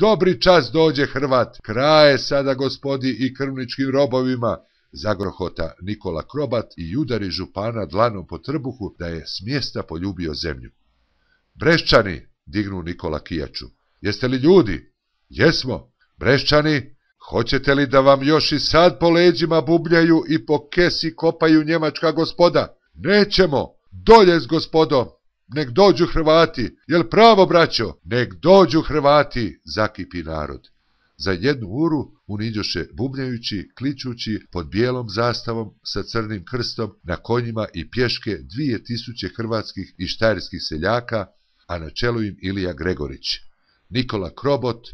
dobri čas dođe Hrvat, kraje sada gospodi i krvničkim robovima, zagrohota Nikola Krobat i udari župana dlanom po trbuhu da je s mjesta poljubio zemlju. Breščani, dignu Nikola kijaču, jeste li ljudi? Jesmo. Breščani, hoćete li da vam još i sad po leđima bubljaju i po kesi kopaju njemačka gospoda? Nećemo, dolje s gospodom, nek dođu Hrvati, jel pravo braćo? Nek dođu Hrvati, zakipi narod. Za 1 uru uniđoše bubnjajući, kličući pod bijelom zastavom sa crnim krstom na konjima i pješke 2000 hrvatskih i štajerskih seljaka, a na čelu im Ilija Gregorić. Nikola Krobot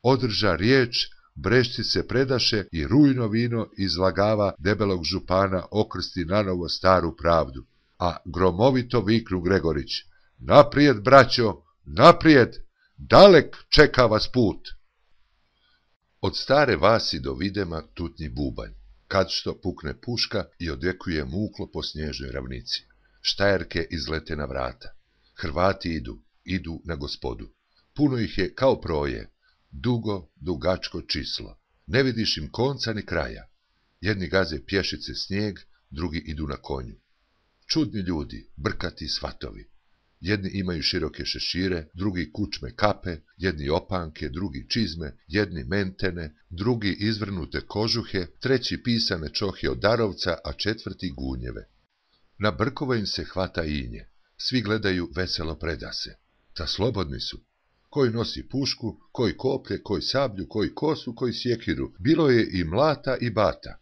održa riječ, Brešci se predaše i rujno vino izlagava debelog župana okrsti nanovo staru pravdu. A gromovito viknu Gregorić, naprijed braćo, naprijed, dalek čeka vas put. Od Stare Vasi do Videma tutnji bubanj, kad što pukne puška i odjekuje muklo po snježnoj ravnici. Štajerke izlete na vrata. Hrvati idu na gospodu. Puno ih je kao proje, dugo, dugačko čislo. Ne vidiš im konca ni kraja. Jedni gaze pješice snijeg, drugi idu na konju. Čudni ljudi, brkati svatovi. Jedni imaju široke šešire, drugi kučme kape, jedni opanke, drugi čizme, jedni mentene, drugi izvrnute kožuhe, treći pisane čohe od darovca, a četvrti gunjeve. Na brkova im se hvata inje. Svi gledaju veselo predase. Ta slobodni su. Koji nosi pušku, koji koplje, koji sablju, koji kosu, koji sjekiru. Bilo je i mlata i bata.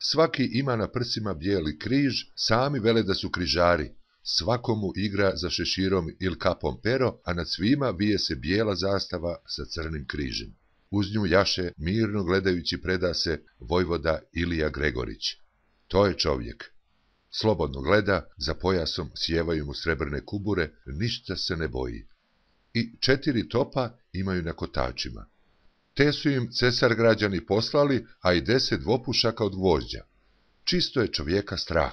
Svaki ima na prsima bijeli križ, sami vele da su križari. Svakomu igra za šeširom ili kapom pero, a nad svima vije se bijela zastava sa crnim križem. Uz nju jaše, mirno gledajući predase, vojvoda Ilija Gregorić. To je čovjek. Slobodno gleda, za pojasom sjevaju mu srebrne kubure, ništa se ne boji. I 4 topa imaju na kotačima. Te su im cesar građani poslali, a i 10 dvopušaka od gvožđa. Čisto je čovjeka strah,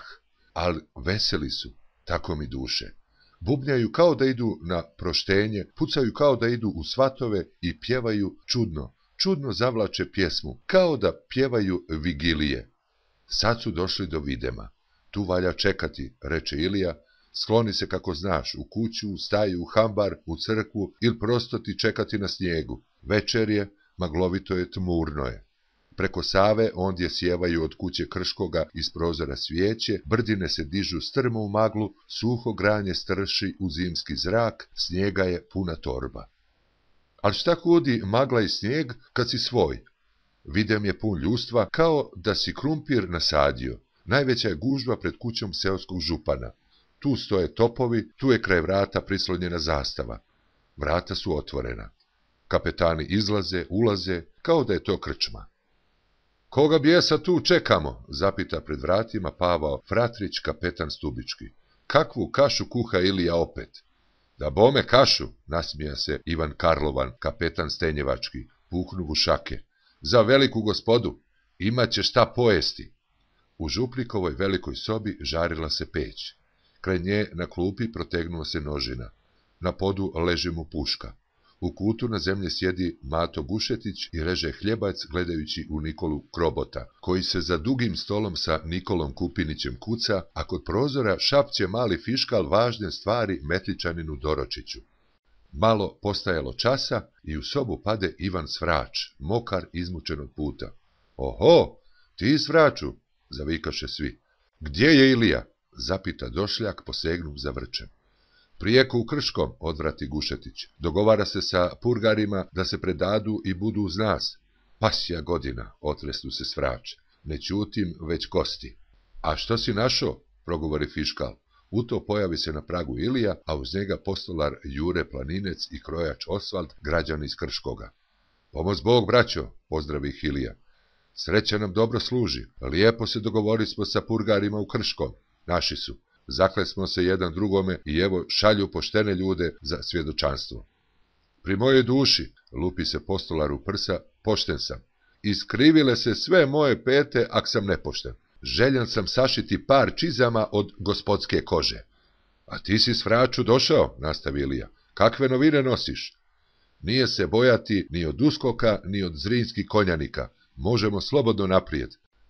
ali veseli su, tako mi duše. Bubnjaju kao da idu na proštenje, pucaju kao da idu u svatove i pjevaju čudno zavlače pjesmu, kao da pjevaju vigilije. Sad su došli do Videma. Tu valja čekati, reče Ilija, skloni se kako znaš, u kuću, u staju, u hambar, u crkvu ili prosto ti čekati na snijegu. Večer je, maglovito je, tmurno je. Preko Save ondje sjevaju od kuće Krškoga iz prozora svijeće, brdine se dižu strmo u maglu, suho granje strši u zimski zrak, snijega je puna torba. Ali šta kudi magla i snijeg kad si svoj? Videm je pun ljustva, kao da si krumpir nasadio. Najveća je gužva pred kućom seoskog župana. Tu stoje topovi, tu je kraj vrata prislonjena zastava. Vrata su otvorena. Kapetani izlaze, ulaze, kao da je to krčma. Koga bijesa tu čekamo? Zapita pred vratima Pavao Fratrić, kapetan Stubički. Kakvu kašu kuha Ilija opet? Da bome kašu, nasmija se Ivan Karlovan, kapetan Stenjevački, puknu u šake. Za veliku gospodu, imaće šta pojesti. U župnikovoj velikoj sobi žarila se peć. Kraj nje na klupi protegnuo se nožina. Na podu leži mu puška. U kutu na zemlji sjedi Mato Gušetić i reže hljebac gledajući u Nikolu Krobota, koji se za dugim stolom sa Nikolom Kupinićem kuca, a kod prozora šapće mali fiškal važne stvari Metličaninu Doročiću. Malo postajalo časa i u sobu pade Ivan Svrač, mokar izmučen od puta. Oho, ti Svraču, zavikaše svi. Gdje je Ilija? Zapita došljak posegnuv za vrčem. Prijeko u Krškom, odvrati Gušetić. Dogovara se sa purgarima da se predadu i budu uz nas. Pasja godina, otresnu se Svrač. Ne ćutim, već kosti. A što si našo? Progovori fiškal. U to pojavi se na pragu Ilija, a uz njega postolar Jure Planinec i krojač Osvald, građan iz Krškoga. Pomoz Bog, braćo, pozdravi ih Ilija. Sreća nam dobro služi. Lijepo se dogovorismo sa purgarima u Krškom. Naši su. Zaklesmo se jedan drugome i evo šalju poštene ljude za svjedočanstvo. Pri mojoj duši, lupi se postolar u prsa, pošten sam. Iskrivile se sve moje pete, ak sam nepošten. Željan sam sašiti par čizama od gospodske kože. A ti si Svraču došao, nastavi Ilija. Kakve novine nosiš? Nije se bojati ni od uskoka, ni od zrinskih konjanika. Možemo slobodno naprijed.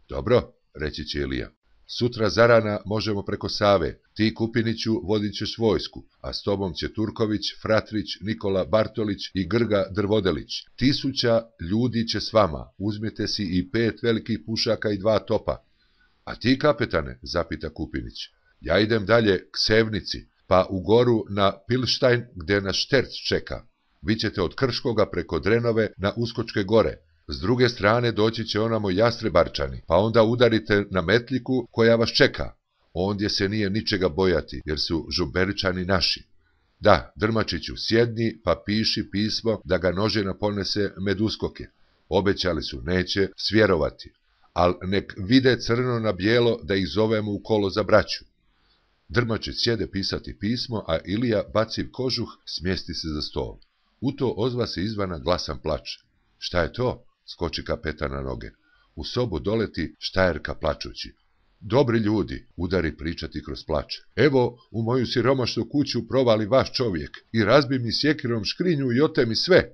Dobro, reći će Ilija. Sutra zarana možemo preko Save. Ti, Kupiniću, vodit ćeš vojsku, a s tobom će Turković, Fratrić, Nikola Bartolić i Grga Drvodelić. 1000 ljudi će s vama. Uzmite si i 5 velikih pušaka i 2 topa. A ti, kapetane, zapita Kupinić. Ja idem dalje k Sevnici, pa u goru na Pilštajn, gdje nas Šterc čeka. Vi ćete od Krškoga preko Drenove na Uskočke gore. S druge strane doći će onamo Jastrebarčani, pa onda udarite na Metliku koja vas čeka. Ondje se nije ničega bojati, jer su Žumberičani naši. Da, Drmačiću, sjedni pa piši pismo da ga Nožina ponese med uskoke. Obećali su, neće svjerovati, al nek vide crno na bijelo da ih zovemo u kolo za braću. Drmačić sjede pisati pismo, a Ilija, baciv kožuh, smjesti se za stol. U to ozva se izvana glasan plač. Šta je to? Skoči kapetan na noge. U sobu doleti Štajerka plačući. Dobri ljudi, udari pričati kroz plač. Evo, u moju siromašnu kuću provali vaš čovjek i razbi mi sjekirom škrinju i otemi sve.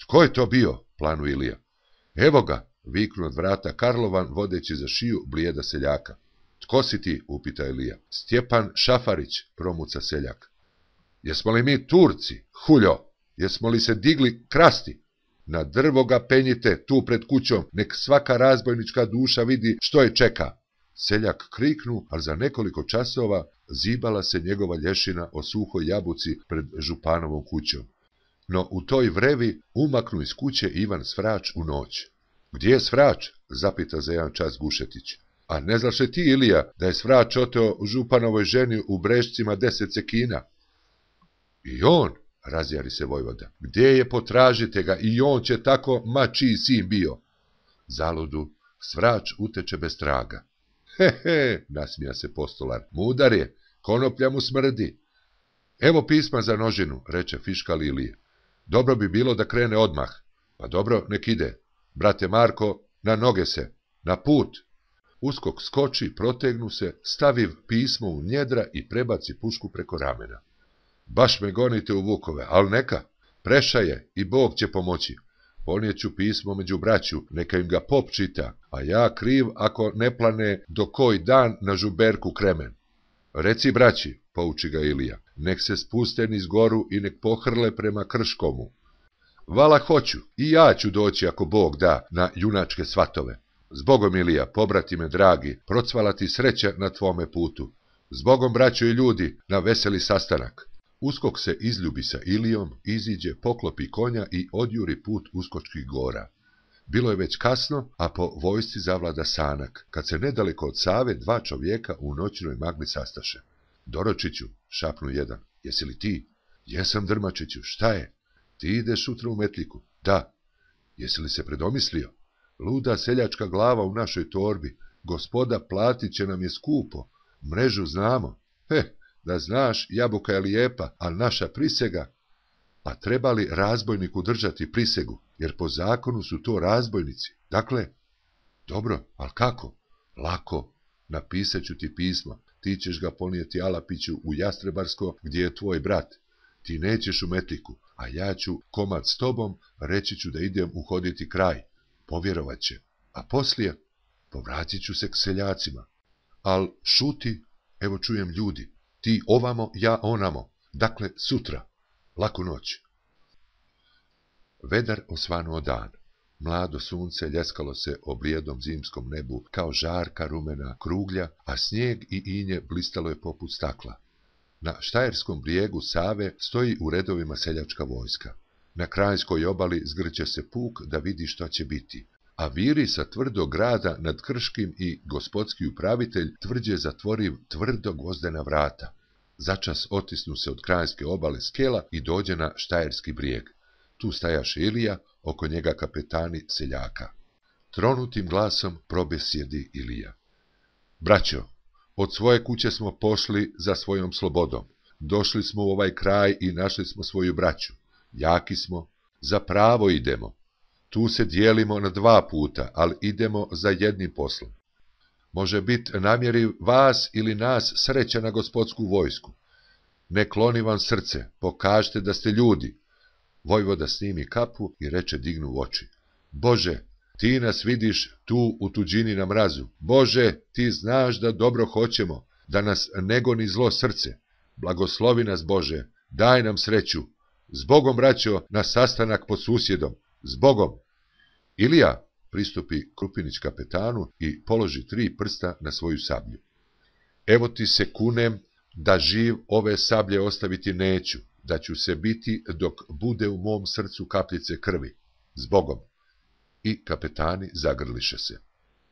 Tko je to bio? Planu Ilija. Evo ga, viknu od vrata Karlovan, vodeći za šiju blijeda seljaka. Tko si ti? Upita Ilija. Stjepan Šafarić, promuca seljak. Jesmo li mi Turci, huljo? Jesmo li se digli krasti? Na drvo ga penjite tu pred kućom, nek svaka razbojnička duša vidi što je čeka. Seljak kriknu, ali za nekoliko časova zibala se njegova lješina o suhoj jabuci pred županovom kućom. No u toj vrevi umaknu iz kuće Ivan Svrač u noć. Gdje je Svrač? Zapita za jedan čas Gušetić. A ne znaš li ti, Ilija, da je Svrač oteo županovoj ženi u Brešcima 10 cekina? I on, razjari se vojvoda. Gdje je, potražite ga, i on će tako, ma čiji sin bio. Zaludu, Svrač uteče bez traga. He, nasmija se postolar, mudar je, konoplja mu smrdi. Evo pisma za Nožinu, reče fiškal Ilije. Dobro bi bilo da krene odmah. Pa dobro, nek ide. Brate Marko, na noge se, na put. Uskok skoči, protegnu se, staviv pismo u njedra i prebaci pušku preko ramena. Baš me gonite u vukove, al neka, preša je i Bog će pomoći. Ponijeću pismo među braću, neka im ga pop čita, a ja kriv ako ne plane do koji dan na Žuberku kremen. Reci braći, pouči ga Ilija, nek se spuste niz goru i nek pohrle prema Krškomu. Vala hoću, i ja ću doći ako Bog da na junačke svatove. Zbogom Ilija, pobratime dragi, procvala ti sreća na tvome putu. Zbogom braćo i ljudi, na veseli sastanak. Uskok se izljubi sa Ilijom, iziđe, poklopi konja i odjuri put Uskočkih gora. Bilo je već kasno, a po vojsci zavlada sanak, kad se nedaleko od Save 2 čovjeka u noćnoj magli sastaše. Doročiću, šapnu jedan, jesi li ti? Jesam, Drmačiću, šta je? Ti ideš sutra u Metliku? Da. Jesi li se predomislio? Luda seljačka glava u našoj torbi, gospoda platit će nam je skupo, mrežu znamo. Da znaš, jabuka je lijepa, ali naša prisega. Pa treba li razbojniku držati prisegu, jer po zakonu su to razbojnici. Dakle, dobro, ali kako? Lako, napisat ću ti pismo, ti ćeš ga ponijeti Alapiću u Jastrebarsko, gdje je tvoj brat. Ti nećeš u Metliku, a ja ću komad s tobom, reći ću da idem uhoditi kraj. Povjerovat će, a poslije povratit ću se k seljacima. Al šuti, evo čujem ljudi, ti ovamo, ja onamo, dakle sutra, laku noć. Vedar osvanuo dan, mlado sunce ljeskalo se o blijedom zimskom nebu kao žarka rumena kruglja, a snijeg i inje blistalo je poput stakla. Na štajerskom brijegu Save stoji u redovima seljačka vojska. Na Krajinskoj obali zgrće se puk da vidi šta će biti, a viri sa tvrdog grada nad Krškim i gospodski upravitelj tvrđe zatvoriv tvrdo gvozdena vrata. Začas otisnu se od Krajinske obale skela i dođe na štajerski brijeg. Tu stajaše Ilija, oko njega kapetani seljaka. Tronutim glasom probesjedi Ilija. Braćo, od svoje kuće smo pošli za svojom slobodom. Došli smo u ovaj kraj i našli smo svoju braću. Jaki smo, za pravo idemo. Tu se dijelimo na 2 puta, ali idemo za jednim poslom. Može biti namjeri vas ili nas sreća na gospodsku vojsku. Ne kloni vam srce, pokažite da ste ljudi. Vojvoda snimi kapu i reče dignu oči. Bože, ti nas vidiš tu u tuđini na mrazu. Bože, ti znaš da dobro hoćemo, da nas ne goni zlo srce. Blagoslovi nas, Bože, daj nam sreću. Zbogom, braćo, na sastanak pod susjedom. Zbogom. Ilija pristupi Krupinić kapetanu i položi 3 prsta na svoju sablju. Evo ti se kunem da živ ove sablje ostaviti neću, da ću se biti dok bude u mom srcu kapljice krvi. Zbogom. I kapetani zagrliše se.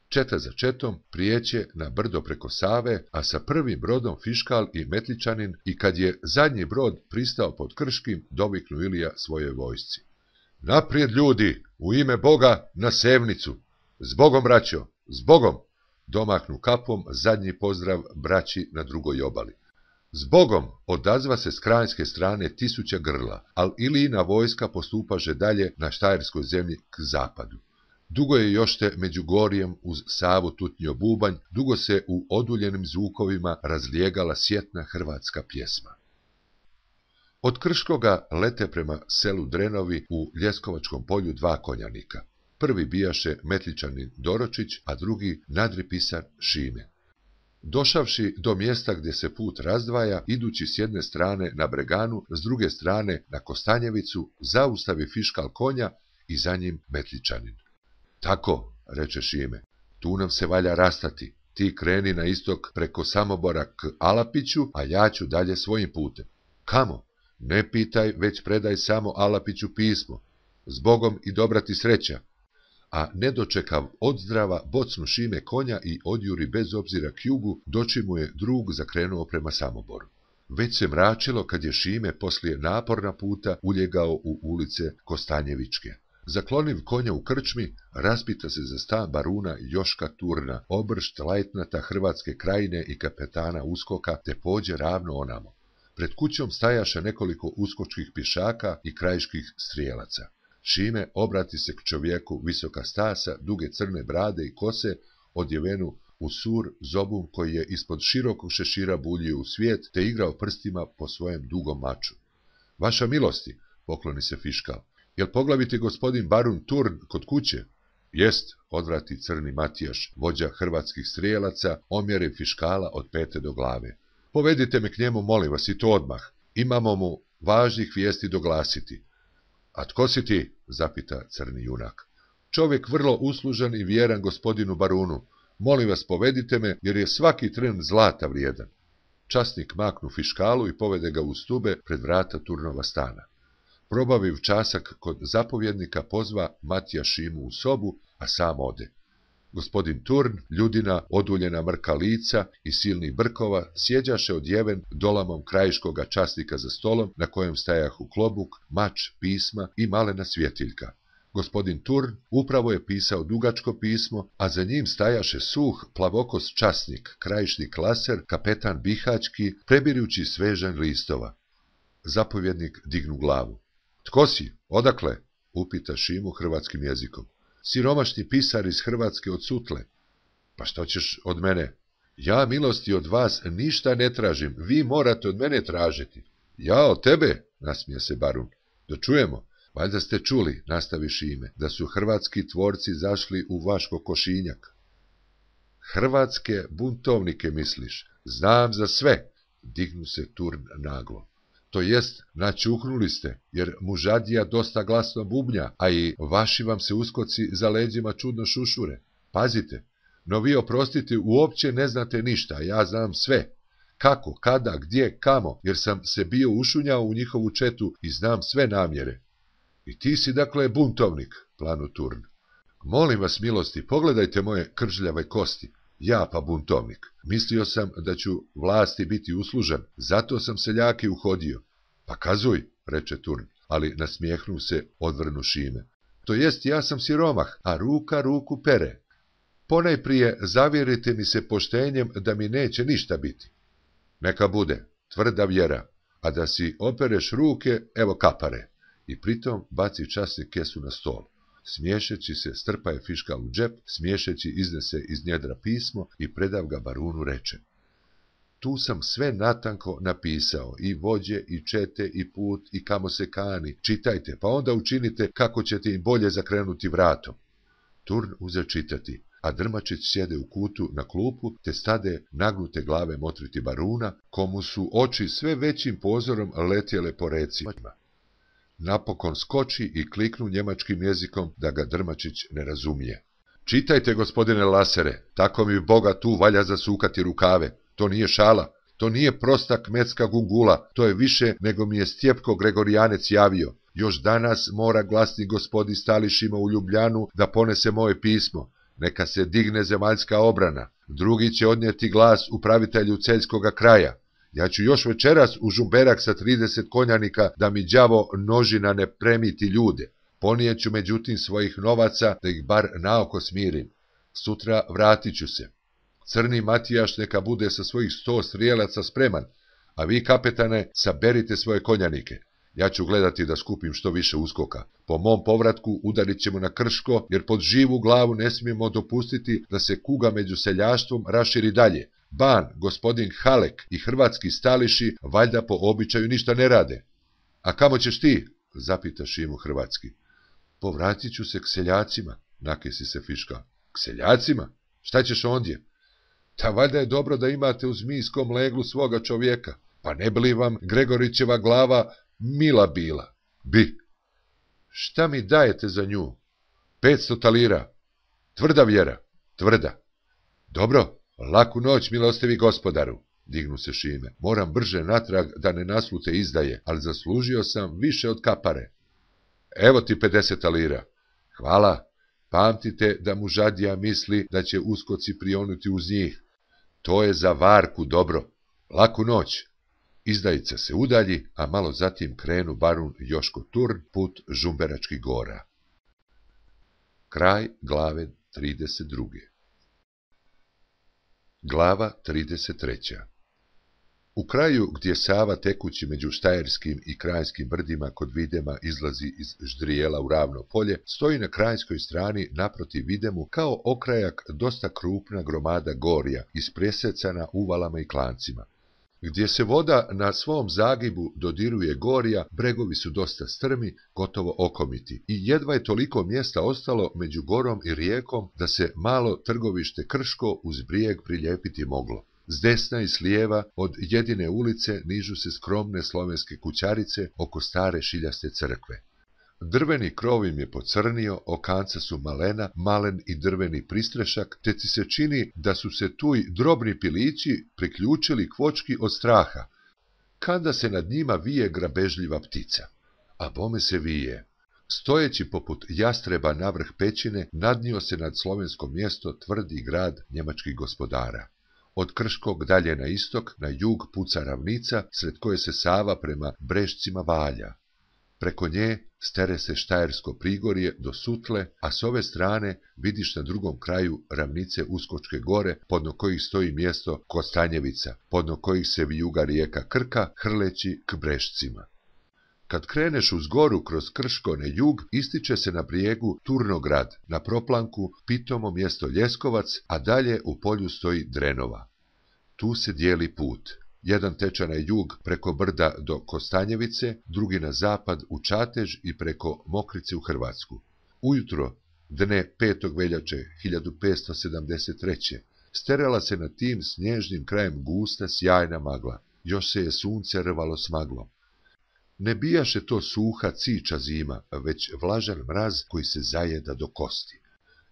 Četa za četom prijeće na brdo preko Save, a sa prvim brodom Fiškal i Metličanin, i kad je zadnji brod pristao pod Krškim, doviknu Ilija svojoj vojsci. Naprijed, ljudi, u ime Boga, na Sevnicu! Zbogom, braćo, zbogom! Domahnu kapom zadnji pozdrav braći na drugoj obali. Zbogom, odazva se s krajinske strane 1000 grla, al Ilijina vojska postupaže dalje na Štajerskoj zemlji k zapadu. Dugo je još te među Gorjem uz Savu tutnjo bubanj, dugo se u oduljenim zvukovima razlijegala sjetna hrvatska pjesma. Od Krškoga lete prema selu Drenovi u Ljeskovačkom polju 2 konjanika. Prvi bijaše Metličanin Doročić, a drugi nadripisar Šime. Došavši do mjesta gdje se put razdvaja, idući s jedne strane na Breganu, s druge strane na Kostanjevicu, zaustavi Fiškal konja i za njim Metličanin. Tako, reče Šime, tu nam se valja rastati, ti kreni na istok preko Samobora k Alapiću, a ja ću dalje svojim putem. Kamo? Ne pitaj, već predaj samo Alapiću pismo. Zbogom i dobra ti sreća. A nedočekav odzdrava bocnu Šime konja i odjuri bez obzira k jugu, doći mu je drug zakrenuo prema Samoboru. Već se mračilo kad je Šime poslije naporna puta uljegao u ulice Kostanjevičke. Zakloniv konja u krčmi, raspita se za stan baruna Joška Turna, obršt lajtnata Hrvatske krajine i kapetana uskoka, te pođe ravno onamo. Pred kućom stajaše nekoliko uskočkih pješaka i krajiških strijelaca. Šime obrati se k čovjeku visoka stasa, duge crne brade i kose, odjevenu u sur zobun koji je ispod širokog šešira buljio u svijet, te igrao prstima po svojem dugom maču. Vaša milosti, pokloni se Fiškal, jel poglaviti gospodin barun Turn kod kuće? Jest, odvrati crni Matijaš, vođa hrvatskih strijelaca, omjere Fiškala od pete do glave. Povedite me k njemu, molim vas, i to odmah. Imamo mu važnih vijesti doglasiti. A tko si ti? Zapita crni junak. Čovjek vrlo uslužan i vjeran gospodinu barunu. Molim vas, povedite me, jer je svaki tren zlata vrijedan. Časnik maknu Fiškalu i povede ga u stube pred vrata Turnova stana. Probaviv časak kod zapovjednika, pozva Matija Šimu u sobu, a sam ode. Gospodin Turn, ljudina, oduljena mrka lica i silnih brkova, sjeđaše odjeven dolamom krajiškoga časnika za stolom, na kojem stajahu klobuk, mač, pisma i malena svjetiljka. Gospodin Turn upravo je pisao dugačko pismo, a za njim stajaše suh, plavokos časnik, krajišni klaser, kapetan Bihaćki, prebirući svežanj listova. Zapovjednik dignu glavu. Tko si? Odakle? Upita Šimu hrvatskim jezikom. Siromašni pisar iz Hrvatske od Sutle. Pa što ćeš od mene? Ja milosti od vas ništa ne tražim, vi morate od mene tražiti. Ja od tebe, nasmije se barun. Da čujemo. Valjda ste čuli, nastavi Šime, da su hrvatski tvorci zašli u vaš kokošinjak. Hrvatske buntovnike misliš? Znam za sve, dignu se Turn naglo. To jest, načuhnuli ste, jer mužadija dosta glasno bubnja, a i vaši vam se uskoci za leđima čudno šušure. Pazite, no vi oprostite, uopće ne znate ništa, a ja znam sve. Kako, kada, gdje, kamo, jer sam se bio ušunjao u njihovu četu i znam sve namjere. I ti si dakle buntovnik, planu Turn. Molim vas milosti, pogledajte moje kržljave kosti. Ja pa buntovnik. Mislio sam da ću vlasti biti uslužan, zato sam seljaki uhodio. Pa kazuj, reče Turn, ali nasmijehnu se odvrnu Šime. To jest, ja sam siromah, a ruka ruku pere. Ponajprije zavjerite mi se poštenjem da mi neće ništa biti. Neka bude, tvrda vjera, a da si opereš ruke, evo kapare. I pritom baci časnik kesu na stol. Smiješeći se, strpa je Fiškal u džep, smiješeći iznese iz njedra pismo i predav ga barunu reče. Tu sam sve natanko napisao, i vođe, i čete, i put, i kamo se kani. Čitajte, pa onda učinite kako ćete im bolje zakrenuti vratom. Turn uze čitati, a Drmačić sjede u kutu na klupu, te stade nagnute glave motriti baruna, komu su oči sve većim pozorom letjele po recima. Napokon skoči i kliknu njemačkim jezikom da ga Drmačić ne razumije. Čitajte, gospodine Lasere, tako mi Boga tu valja zasukati rukave. To nije šala, to nije prosta kmetska gungula, to je više nego mi je Stjepko Gregorijanec javio. Još danas mora glasni gospodi Stališima u Ljubljanu da ponese moje pismo. Neka se digne zemaljska obrana. Drugi će odnijeti glas upravitelju Celjskoga kraja. Ja ću još večeras u Žumberak sa 30 konjanika da mi đavo nožina ne premiti ljude. Ponijeću međutim svojih novaca da ih bar naoko smirim. Sutra vratit ću se. Crni Matijaš neka bude sa svojih 100 strijelaca spreman, a vi, kapetane, saberite svoje konjanike. Ja ću gledati da skupim što više uskoka. Po mom povratku udarit ćemo na Krško, jer pod živu glavu ne smijemo dopustiti da se kuga među seljaštvom raširi dalje. Ban, gospodin Halek i hrvatski Stališi valjda po običaju ništa ne rade. A kamo ćeš ti? Zapita Šimu hrvatski. Povratit ću se k seljacima, nakesi se Fiška. K seljacima? Šta ćeš ondje? Ta valjda je dobro da imate u zmijskom leglu svoga čovjeka, pa ne bi li vam Gregorićeva glava mila bila? Bi. Šta mi dajete za nju? 500 talira. Tvrda vjera? Tvrda. Dobro, laku noć, milostivi gospodaru. Dignu se Šime. Moram brže natrag da ne naslute izdaje, ali zaslužio sam više od kapare. Evo ti 50 talira. Hvala. Pamtite da mu žadija misli da će uskoci prionuti uz njih. To je za varku dobro. Laku noć. Izdajica se udalji, a malo zatim krenu barun Joško Turn put Žumberačkih gora. Kraj glave 32. Glava 33. U kraju gdje Sava tekući među štajerskim i krajskim brdima kod Videma izlazi iz Ždrijela u ravno polje, stoji na krajskoj strani naprotiv Videmu kao okrajak dosta krupna gromada gorja, ispresecana uvalama i klancima. Gdje se voda na svom zagibu dodiruje gorja, bregovi su dosta strmi, gotovo okomiti, i jedva je toliko mjesta ostalo među gorom i rijekom da se malo trgovište Krško uz brijeg prilijepiti moglo. S desna i s lijeva od jedine ulice nižu se skromne slovenske kućarice oko stare šiljaste crkve. Drveni krov im je pocrnio, okanca su malena, malen i drveni pristrešak, te ti se čini da su se tuj drobni pilići priključili kvočki od straha, kada se nad njima vije grabežljiva ptica. A bome se vije. Stojeći poput jastreba navrh pećine, nadnio se nad slovensko mjesto tvrdi grad njemačkih gospodara. Od Krškog dalje na istok, na jug puca ravnica, sred koje se Sava prema Brešcima valja. Preko nje stere se Štajersko prigorje do Sutle, a s ove strane vidiš na drugom kraju ravnice Uskočke gore, podno kojih stoji mjesto Kostanjevica, podno kojih se vijuga rijeka Krka, hrleći k Brešcima. Kad kreneš uz goru kroz Krško na jug, ističe se na brijegu Turnograd, na proplanku pitomo mjesto Ljeskovac, a dalje u polju stoji Drenova. Tu se dijeli put. Jedan teče na jug preko brda do Kostanjevice, drugi na zapad u Čatež i preko Mokrice u Hrvatsku. Ujutro, dne 5. veljače 1573. sterala se nad tim snježnim krajem gusta sjajna magla. Još se je sunce rvalo s maglom. Ne bijaše to suha ciča zima, već vlažan mraz koji se zajeda do kosti.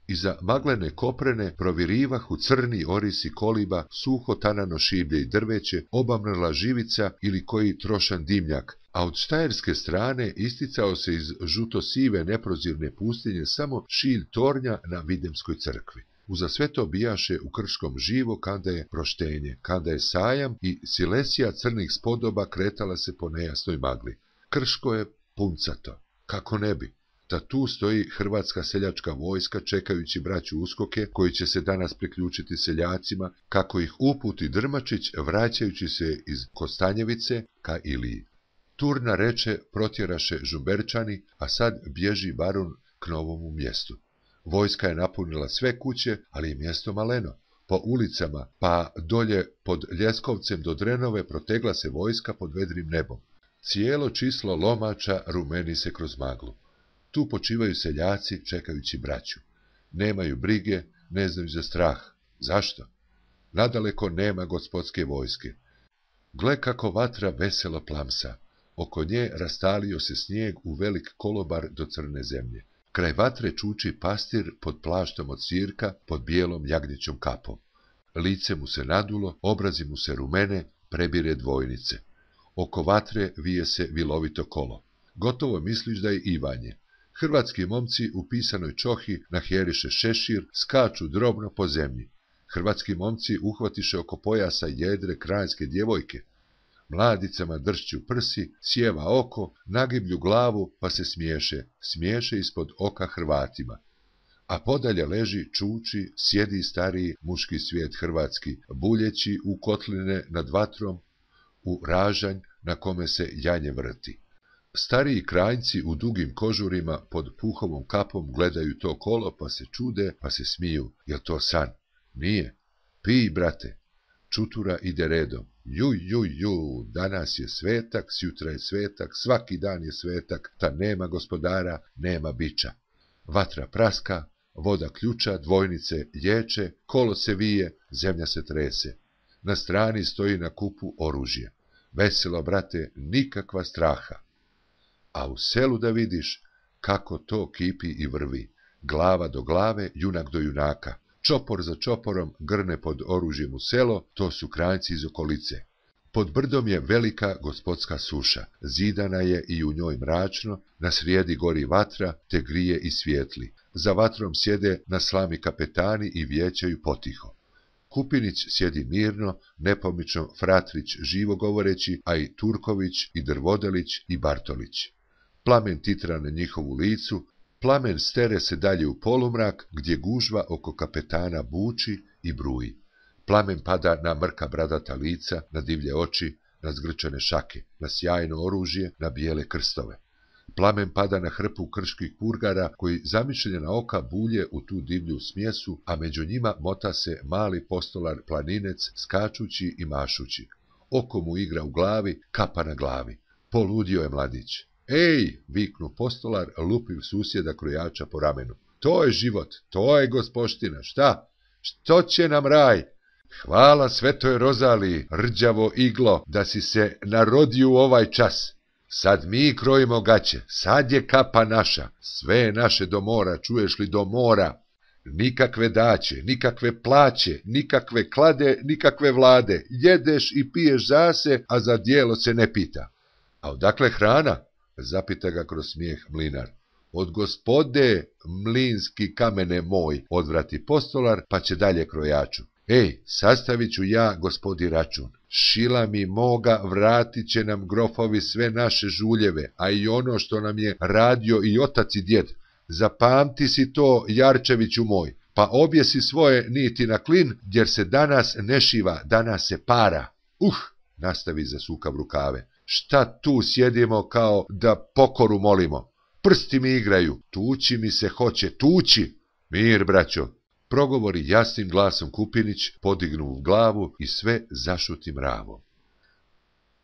Iza maglene koprene provirivahu crni orisi koliba, suho tanano šiblje i drveće, obamrla živica ili koji trošan dimnjak, a od štajerske strane isticao se iz žuto-sive neprozirne pustinje samo šilj tornja na Videmskoj crkvi. Uza sve to bijaše u Krškom živo kada je proštenje, kada je sajam i silesija crnih spodoba kretala se po nejasnoj magli. Krško je puncato, kako ne bi. Da tu stoji hrvatska seljačka vojska čekajući braću uskoke koji će se danas priključiti seljacima, kako ih uputi Drmačić vraćajući se iz Kostanjevice ka Iliji. Turna reče protjeraše Žumberčani, a sad bježi barun k novomu mjestu. Vojska je napunila sve kuće, ali je mjesto maleno. Po ulicama, pa dolje pod Ljeskovcem do Drenove protegla se vojska pod vedrim nebom. Cijelo čislo lomača rumeni se kroz maglu. Tu počivaju seljaci čekajući braću. Nemaju brige, ne znaju za strah. Zašto? Nadaleko nema gospodske vojske. Gle kako vatra veselo plamsa. Oko nje rastalio se snijeg u velik kolobar do crne zemlje. Kraj vatre čuči pastir pod plaštom od sirka, pod bijelom jagnjećom kapom. Lice mu se nadulo, obrazi mu se rumene, prebire dvojnice. Oko vatre vije se vilovito kolo. Gotovo misliš da je Ivanje. Hrvatski momci u pisanoj čohi nahjeriše šešir, skaču drobno po zemlji. Hrvatski momci uhvatiše oko pojasa jedre krajinske djevojke. Mladicama dršću prsi, sjeva oko, nagiblju glavu pa se smiješe ispod oka Hrvatima. A podalje leži, čuči, sjedi stariji muški svijet hrvatski, buljeći u kotline nad vatrom, u ražanj na kome se janje vrti. Stariji krajnci u dugim kožurima pod puhovom kapom gledaju to kolo pa se čude, pa se smiju. Jel to san? Nije. Pij, brate. Čutura ide redom. Ju, danas je svetak, sjutra je svetak, svaki dan je svetak, ta nema gospodara, nema biča. Vatra praska, voda ključa, dvojnice lječe, kolo se vije, zemlja se trese. Na strani stoji na kupu oružje. Veselo, brate, nikakva straha. A u selu da vidiš kako to kipi i vrvi. Glava do glave, junak do junaka. Čopor za čoporom grne pod oružjem u selo, to su krajnci iz okolice. Pod brdom je velika gospodska suša, zidana je i u njoj mračno, na srijedi gori vatra, te grije i svijetli. Za vatrom sjede na slami kapetani i vijećaju potiho. Kupinić sjedi mirno, nepomično Fratrić živo govoreći, a i Turković i Drvodelić i Bartolić. Plamen titra na njihovu licu, plamen stere se dalje u polumrak, gdje gužva oko kapetana buči i bruji. Plamen pada na mrka bradata lica, na divlje oči, na zgrčane šake, na sjajno oružje, na bijele krstove. Plamen pada na hrpu krških purgara, koji zamišljena oka bulje u tu divlju smjesu, a među njima mota se mali postolar planinec, skačući i mašući. Oko mu igra u glavi, kapa na glavi. Poludio je mladić. Ej, viknu postolar, lupiv susjeda krojača po ramenu. To je život, to je gospoština, šta? Što će nam raj? Hvala svetoj Rozaliji, rđavo iglo, da si se narodio u ovaj čas. Sad mi krojimo gaće, sad je kapa naša, sve je naše do mora, čuješ li, do mora. Nikakve daće, nikakve plaće, nikakve klade, nikakve vlade, jedeš i piješ zase, a za djelo se ne pita. A odakle hrana? Zapita ga kroz smijeh mlinar. Od gospode, mlinski kamene moj, odvrati postolar, pa će dalje krojaču. Ej, sastavit ću ja gospodi račun. Šila mi moga, vratit će nam grofovi sve naše žuljeve, a i ono što nam je radio i otac i djed. Zapamti si to, Jarčeviću moj, pa objesi svoje niti na klin, jer se danas ne šiva, danas se para. Nastavi zasukav rukave. Šta tu sjedimo kao da pokoru molimo? Prsti mi igraju, tući mi se hoće, tući. Mir, braćo, progovori jasnim glasom Kupinić, podignu glavu i sve zašuti mravom.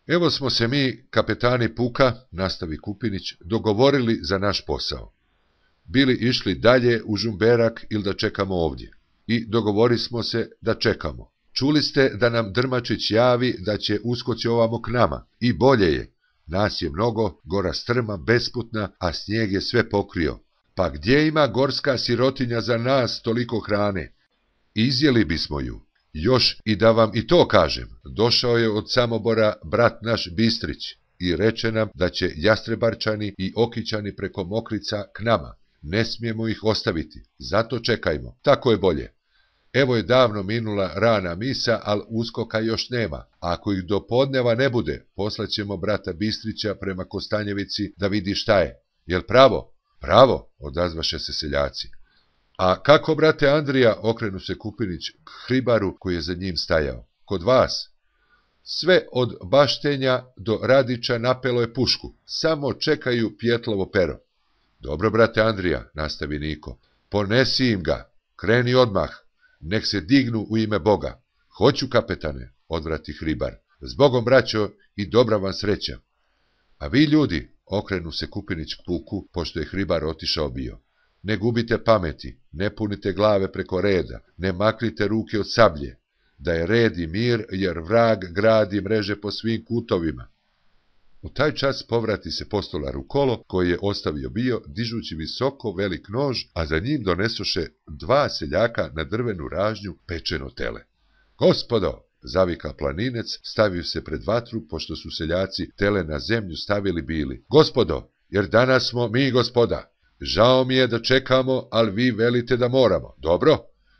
Evo smo se mi, kapetani puka, nastavi Kupinić, dogovorili za naš posao. Bili išli dalje u Žumberak ili da čekamo ovdje. I dogovori smo se da čekamo. Čuli ste da nam Drmačić javi da će uskoći ovamo k nama. I bolje je. Nas je mnogo, gora strma, besputna, a snijeg je sve pokrio. Pa gdje ima gorska sirotinja za nas toliko hrane? Izjeli bismo ju. Još i da vam i to kažem, došao je od Samobora brat naš Bistrić i reče nam da će Jastrebarčani i Okićani preko Mokrica k nama. Ne smijemo ih ostaviti, zato čekajmo, tako je bolje. Evo je davno minula rana misa, ali uskoka još nema. A ako ih do podneva ne bude, poslaćemo brata Bistrića prema Kostanjevici da vidi šta je. Jel pravo? Pravo, odazvaše se seljaci. A kako, brate Andrija, okrenu se Kupinić k Hribaru koji je za njim stajao. Kod vas? Sve od Baštenja do Radića napelo je pušku, samo čekaju Pjetlovo pero. Dobro, brate Andrija, nastavi Niko, ponesi im ga, kreni odmah. nek se dignu u ime Boga. Hoću, kapetane, odvrati Hribar. Zbogom, braćo, i dobra vam sreća. A vi, ljudi, okrenu se Kupinić k puku, pošto je Hribar otišao bio. Ne gubite pameti, ne punite glave preko reda, ne maknite ruke od sablje, da je red i mir, jer vrag gradi mreže po svim kutovima. U taj čas povrati se postolar u kolo, koji je ostavio bio, dižući visoko velik nož, a za njim donesoše 2 seljaka na drvenu ražnju pečeno tele. Gospodo, zavika planinec, stavio se pred vatru, pošto su seljaci tele na zemlju stavili bili. Gospodo, jer danas smo mi gospoda. Žao mi je da čekamo, ali vi velite da moramo. Dobro?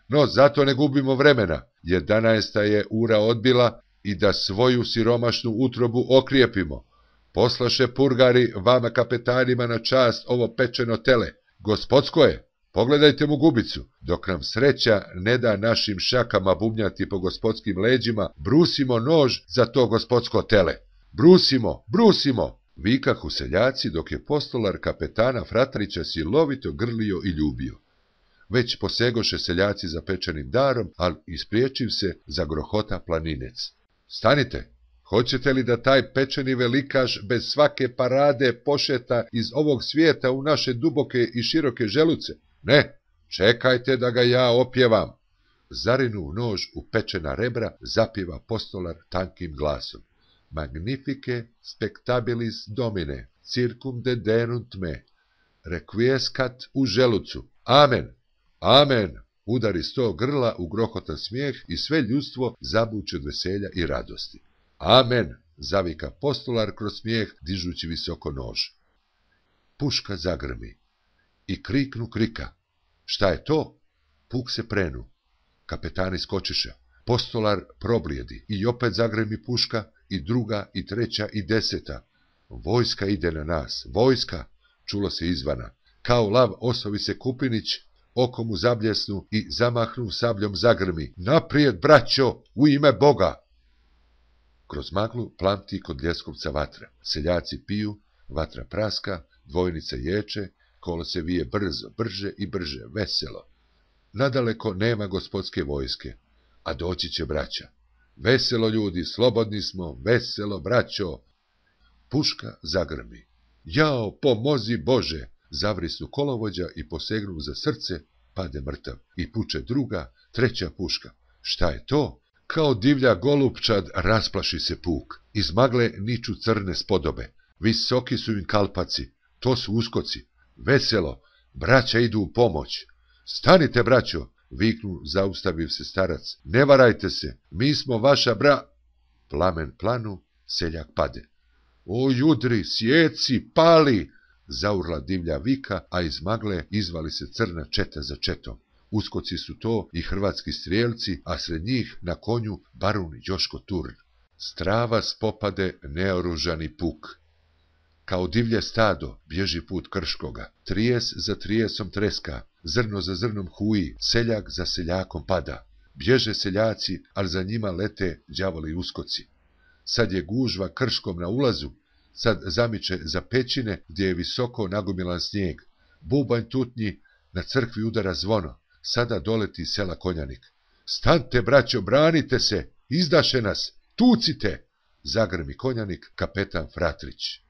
No, zato ne gubimo vremena, jer 11 je ura odbila i da svoju siromašnu utrobu okrijepimo. Poslaše purgari vama kapetanima na čast ovo pečeno tele. Gospodsko je, pogledajte mu gubicu. Dok nam sreća ne da našim šakama bubnjati po gospodskim leđima, brusimo nož za to gospodsko tele. Brusimo, brusimo! Vikahu seljaci, dok je postolar kapetana Fratrića silovito grlio i ljubio. Već posegoše seljaci za pečenim darom, ali ispriječiv se zagrohota planinec. Stanite! Hoćete li da taj pečeni velikaš bez svake parade pošeta iz ovog svijeta u naše duboke i široke želuce? Ne, čekajte da ga ja opjevam. Zarinuv nož u pečena rebra zapjeva postolar tankim glasom. Magnifique spectabilis domine, circum dedenunt me, requiescat u želucu. Amen, amen, udari 100 grla u grohotan smijeh i sve ljudstvo zabuče od veselja i radosti. Amen, zavika postolar kroz smijeh, dižući visoko nož. Puška zagrmi i kriknu krika. Šta je to? Puk se prenu. Kapetani skočiše. Postolar problijedi i opet zagremi puška, i druga, i treća, i 10. Vojska ide na nas, vojska, čulo se izvana. Kao lav osovi se Kupinić, oko mu zabljesnu i zamahnuv sabljom zagrmi. Naprijed, braćo, u ime Boga! Kroz maglu plamti kod Ljeskovca vatra. Seljaci piju, vatra praska, dvojnica ječe, kolo se vije brzo, brže i brže, veselo. Nadaleko nema gospodske vojske, a doći će braća. Veselo, ljudi, slobodni smo, veselo, braćo. Puška zagrmi. Jao, pomozi Bože! Zavrisnu kolovođa i posegnu za srce, pade mrtav. I puče druga, treća puška. Šta je to? Kao divlja golupčad rasplaši se puk. Iz magle niču crne spodobe. Visoki su im kalpaci. To su uskoci. Veselo, braća idu u pomoć. Stanite, braćo! Viknu zaustaviv se starac. Ne varajte se, mi smo vaša Plamen planu, seljak pade. O judri, sjeci, pali! Zaurla divlja vika, a iz magle izvali se crna četa za četom. Uskoci su to i hrvatski strijelci, a sred njih na konju barun Joško Turn. Strava spopade neoružani puk. Kao divlje stado bježi put Krškoga. Trijes za trijesom treska, zrno za zrnom huji, seljak za seljakom pada. Bježe seljaci, ali za njima lete đavoli uskoci. Sad je gužva Krškom na ulazu, sad zamiče za pećine gdje je visoko nagomilan snijeg. Bubanj tutnji, na crkvi udara zvono. Sada doleti sela Konjanik. Stante, braćo, branite se, izdaše nas, tucite! Zagrmi Konjanik, kapetan Fratrić.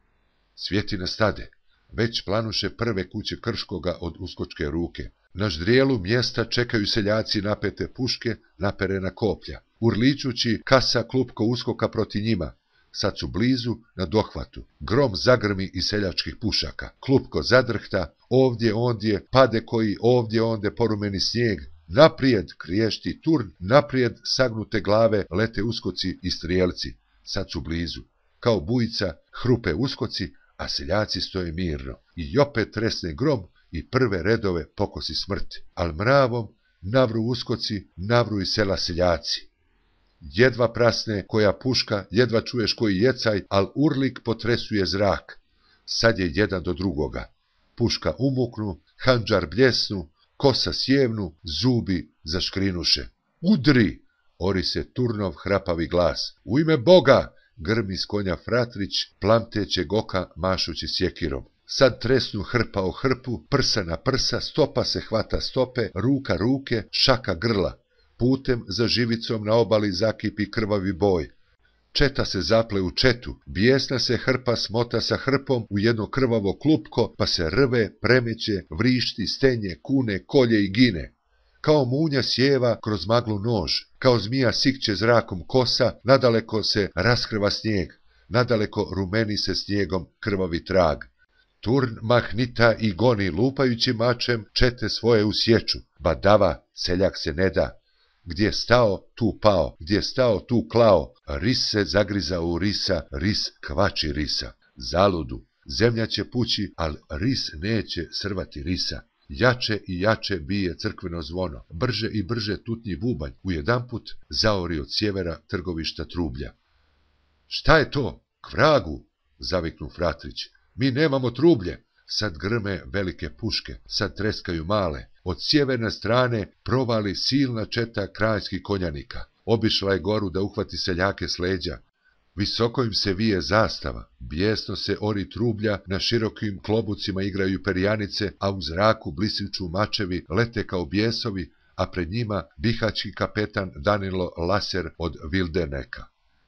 Svjetina stade. Već planuše prve kuće Krškoga od uskočke ruke. Na ždrijelu mjesta čekaju seljaci napete puške, naperena koplja. Urličući kasa klupko uskoka proti njima. Sad su blizu, na dohvatu. Grom zagrmi iz seljačkih pušaka. Klupko zadrhta, ovdje ondje, pade koji ovdje onde porumeni snijeg. Naprijed kriješti Turn, naprijed sagnute glave lete uskoci i strijelci. Sad su blizu. Kao bujica hrupe uskoci, a seljaci stoje mirno. I opet tresne grom i prve redove pokosi smrt. Al mravom navru uskoci, navru i sela seljaci. Jedva prasne koja puška, jedva čuješ koji jecaj, al urlik potresuje zrak. Sad je jedan do drugoga. Puška umuknu, handžar bljesnu, kosa sjevnu, zubi zaškrinuše. Udri! Ori se Turnov hrapavi glas. U ime Boga! Grmi s konja Fratrić, plamtećeg oka mašući sjekirom. Sad tresnu hrpa o hrpu, prsa na prsa, stopa se hvata stope, ruka ruke, šaka grla. Putem za živicom na obali zakipi krvavi boj. Četa se zaple u četu, bijesna se hrpa smota sa hrpom u jedno krvavo klupko, pa se rve, premeće, vrišti, stenje, kune, kolje i gine. Kao munja sjeva kroz maglu nož, kao zmija sikće zrakom kosa, nadaleko se raskrva snijeg, nadaleko rumeni se snijegom krvavi trag. Turn mahnita i goni lupajući mačem čete svoje u sječu, badava, seljak se ne da. Gdje stao, tu pao, gdje stao, tu klao, ris se zagrizao u risa, ris kvači risa. Zaludu, zemlja će pući, al ris neće srvati risa. Jače i jače bije crkveno zvono, brže i brže tutnji bubanj, ujedanput zaori od sjevera trgovišta trublja. Šta je to? K vragu, zaviknu Fratrić. Mi nemamo trublje. Sad grme velike puške, sad treskaju male. Od sjeverne strane provali silna četa kraljskih konjanika. Obišla je goru da uhvati seljake s leđa. Visoko im se vije zastava, bijesno se ori trublja, na širokim klobucima igraju perjanice, a u zraku blisiču mačevi lete kao bijesovi, a pred njima bihački kapetan Danilo Laser od Vildeneka.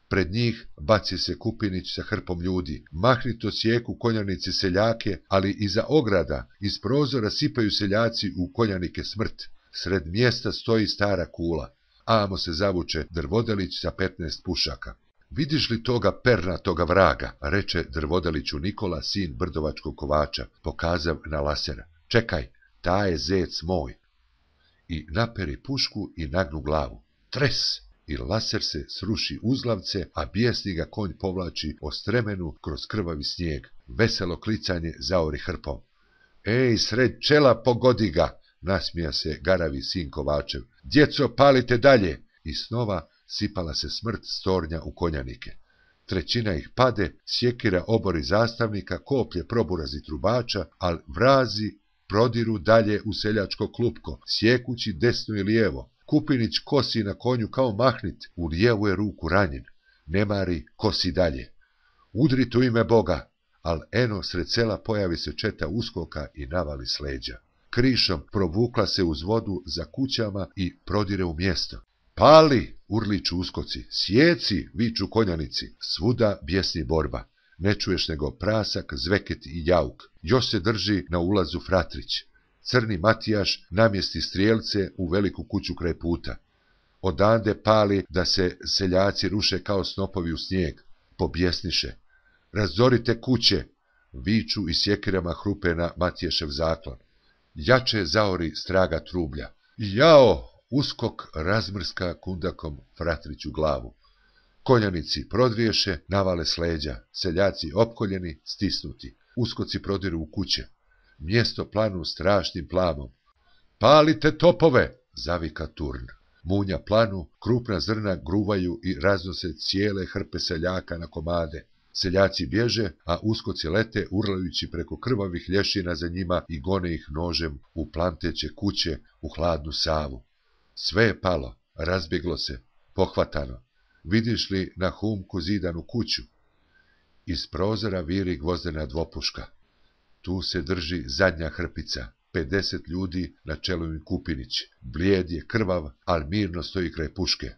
Pred njih baci se Kupinić sa hrpom ljudi, mahnito sjeku konjanici seljake, ali iza ograda, iz prozora sipaju seljaci u konjanike smrt. Sred mjesta stoji stara kula, amo se zavuče Drvodelić sa 15 pušaka. Vidiš li toga pernatoga vraga, reče Drvodeliću Nikola, sin brdovačkog kovača, pokazav na Lasera. Čekaj, ta je zec moj. I naperi pušku i nagnu glavu. Tres! I Laser se sruši uzlavce, a bijesni ga konj povlači o stremenu kroz krvavi snijeg. Veselo klicanje zaori hrpom. Ej, sred čela, pogodi ga! Nasmija se garavi sin Kovačev. Djeco, palite dalje! I snova sipala se smrt s tornja u konjanike. Trećina ih pade, sjekira obori zastavnika, koplje proburazi trubača, al vrazi prodiru dalje u seljačko klupko, sjekući desno i lijevo. Kupinić kosi na konju kao mahnit, u lijevu je ruku ranjen. Ne mari, kosi dalje. Udrit u ime Boga, al eno sred sela pojavi se četa uskoka i navali s leđa. Krišom provukla se uz vodu za kućama i prodire u mjesto. Pali, urliču uskoci, sjeci, viču konjanici, svuda bjesni borba. Ne čuješ nego prasak, zveket i jauk. Još se drži na ulazu Fratrić. Crni Matijaš namjesti strijelce u veliku kuću kraj puta. Odande pali da se seljaci ruše kao snopovi u snijeg. Pobjesniše. Razorite kuće, viču i sjekirama hrupe na Matijašev zaklon. Jače zaori straga trublja. Jao! Uskok razmrska kundakom Fratriću glavu. Konjanici prodriješe, navale s leđa, seljaci opkoljeni, stisnuti. Uskoci prodiru u kuće. Mjesto planu strašnim plamom. Palite topove, zavika Turn. Munja planu, krupna zrna gruvaju i raznose cijele hrpe seljaka na komade. Seljaci bježe, a uskoci lete urlajući preko krvavih lješina za njima i gone ih nožem u planteće kuće, u hladnu Savu. Sve je palo, razbjeglo se, pohvatano. Vidiš li na humku zidanu kuću? Iz prozora viri gvozdena dvopuška. Tu se drži zadnja hrpica, 50 ljudi na čelu im Kupinić. Blijed je krvav, al mirno stoji kraj puške.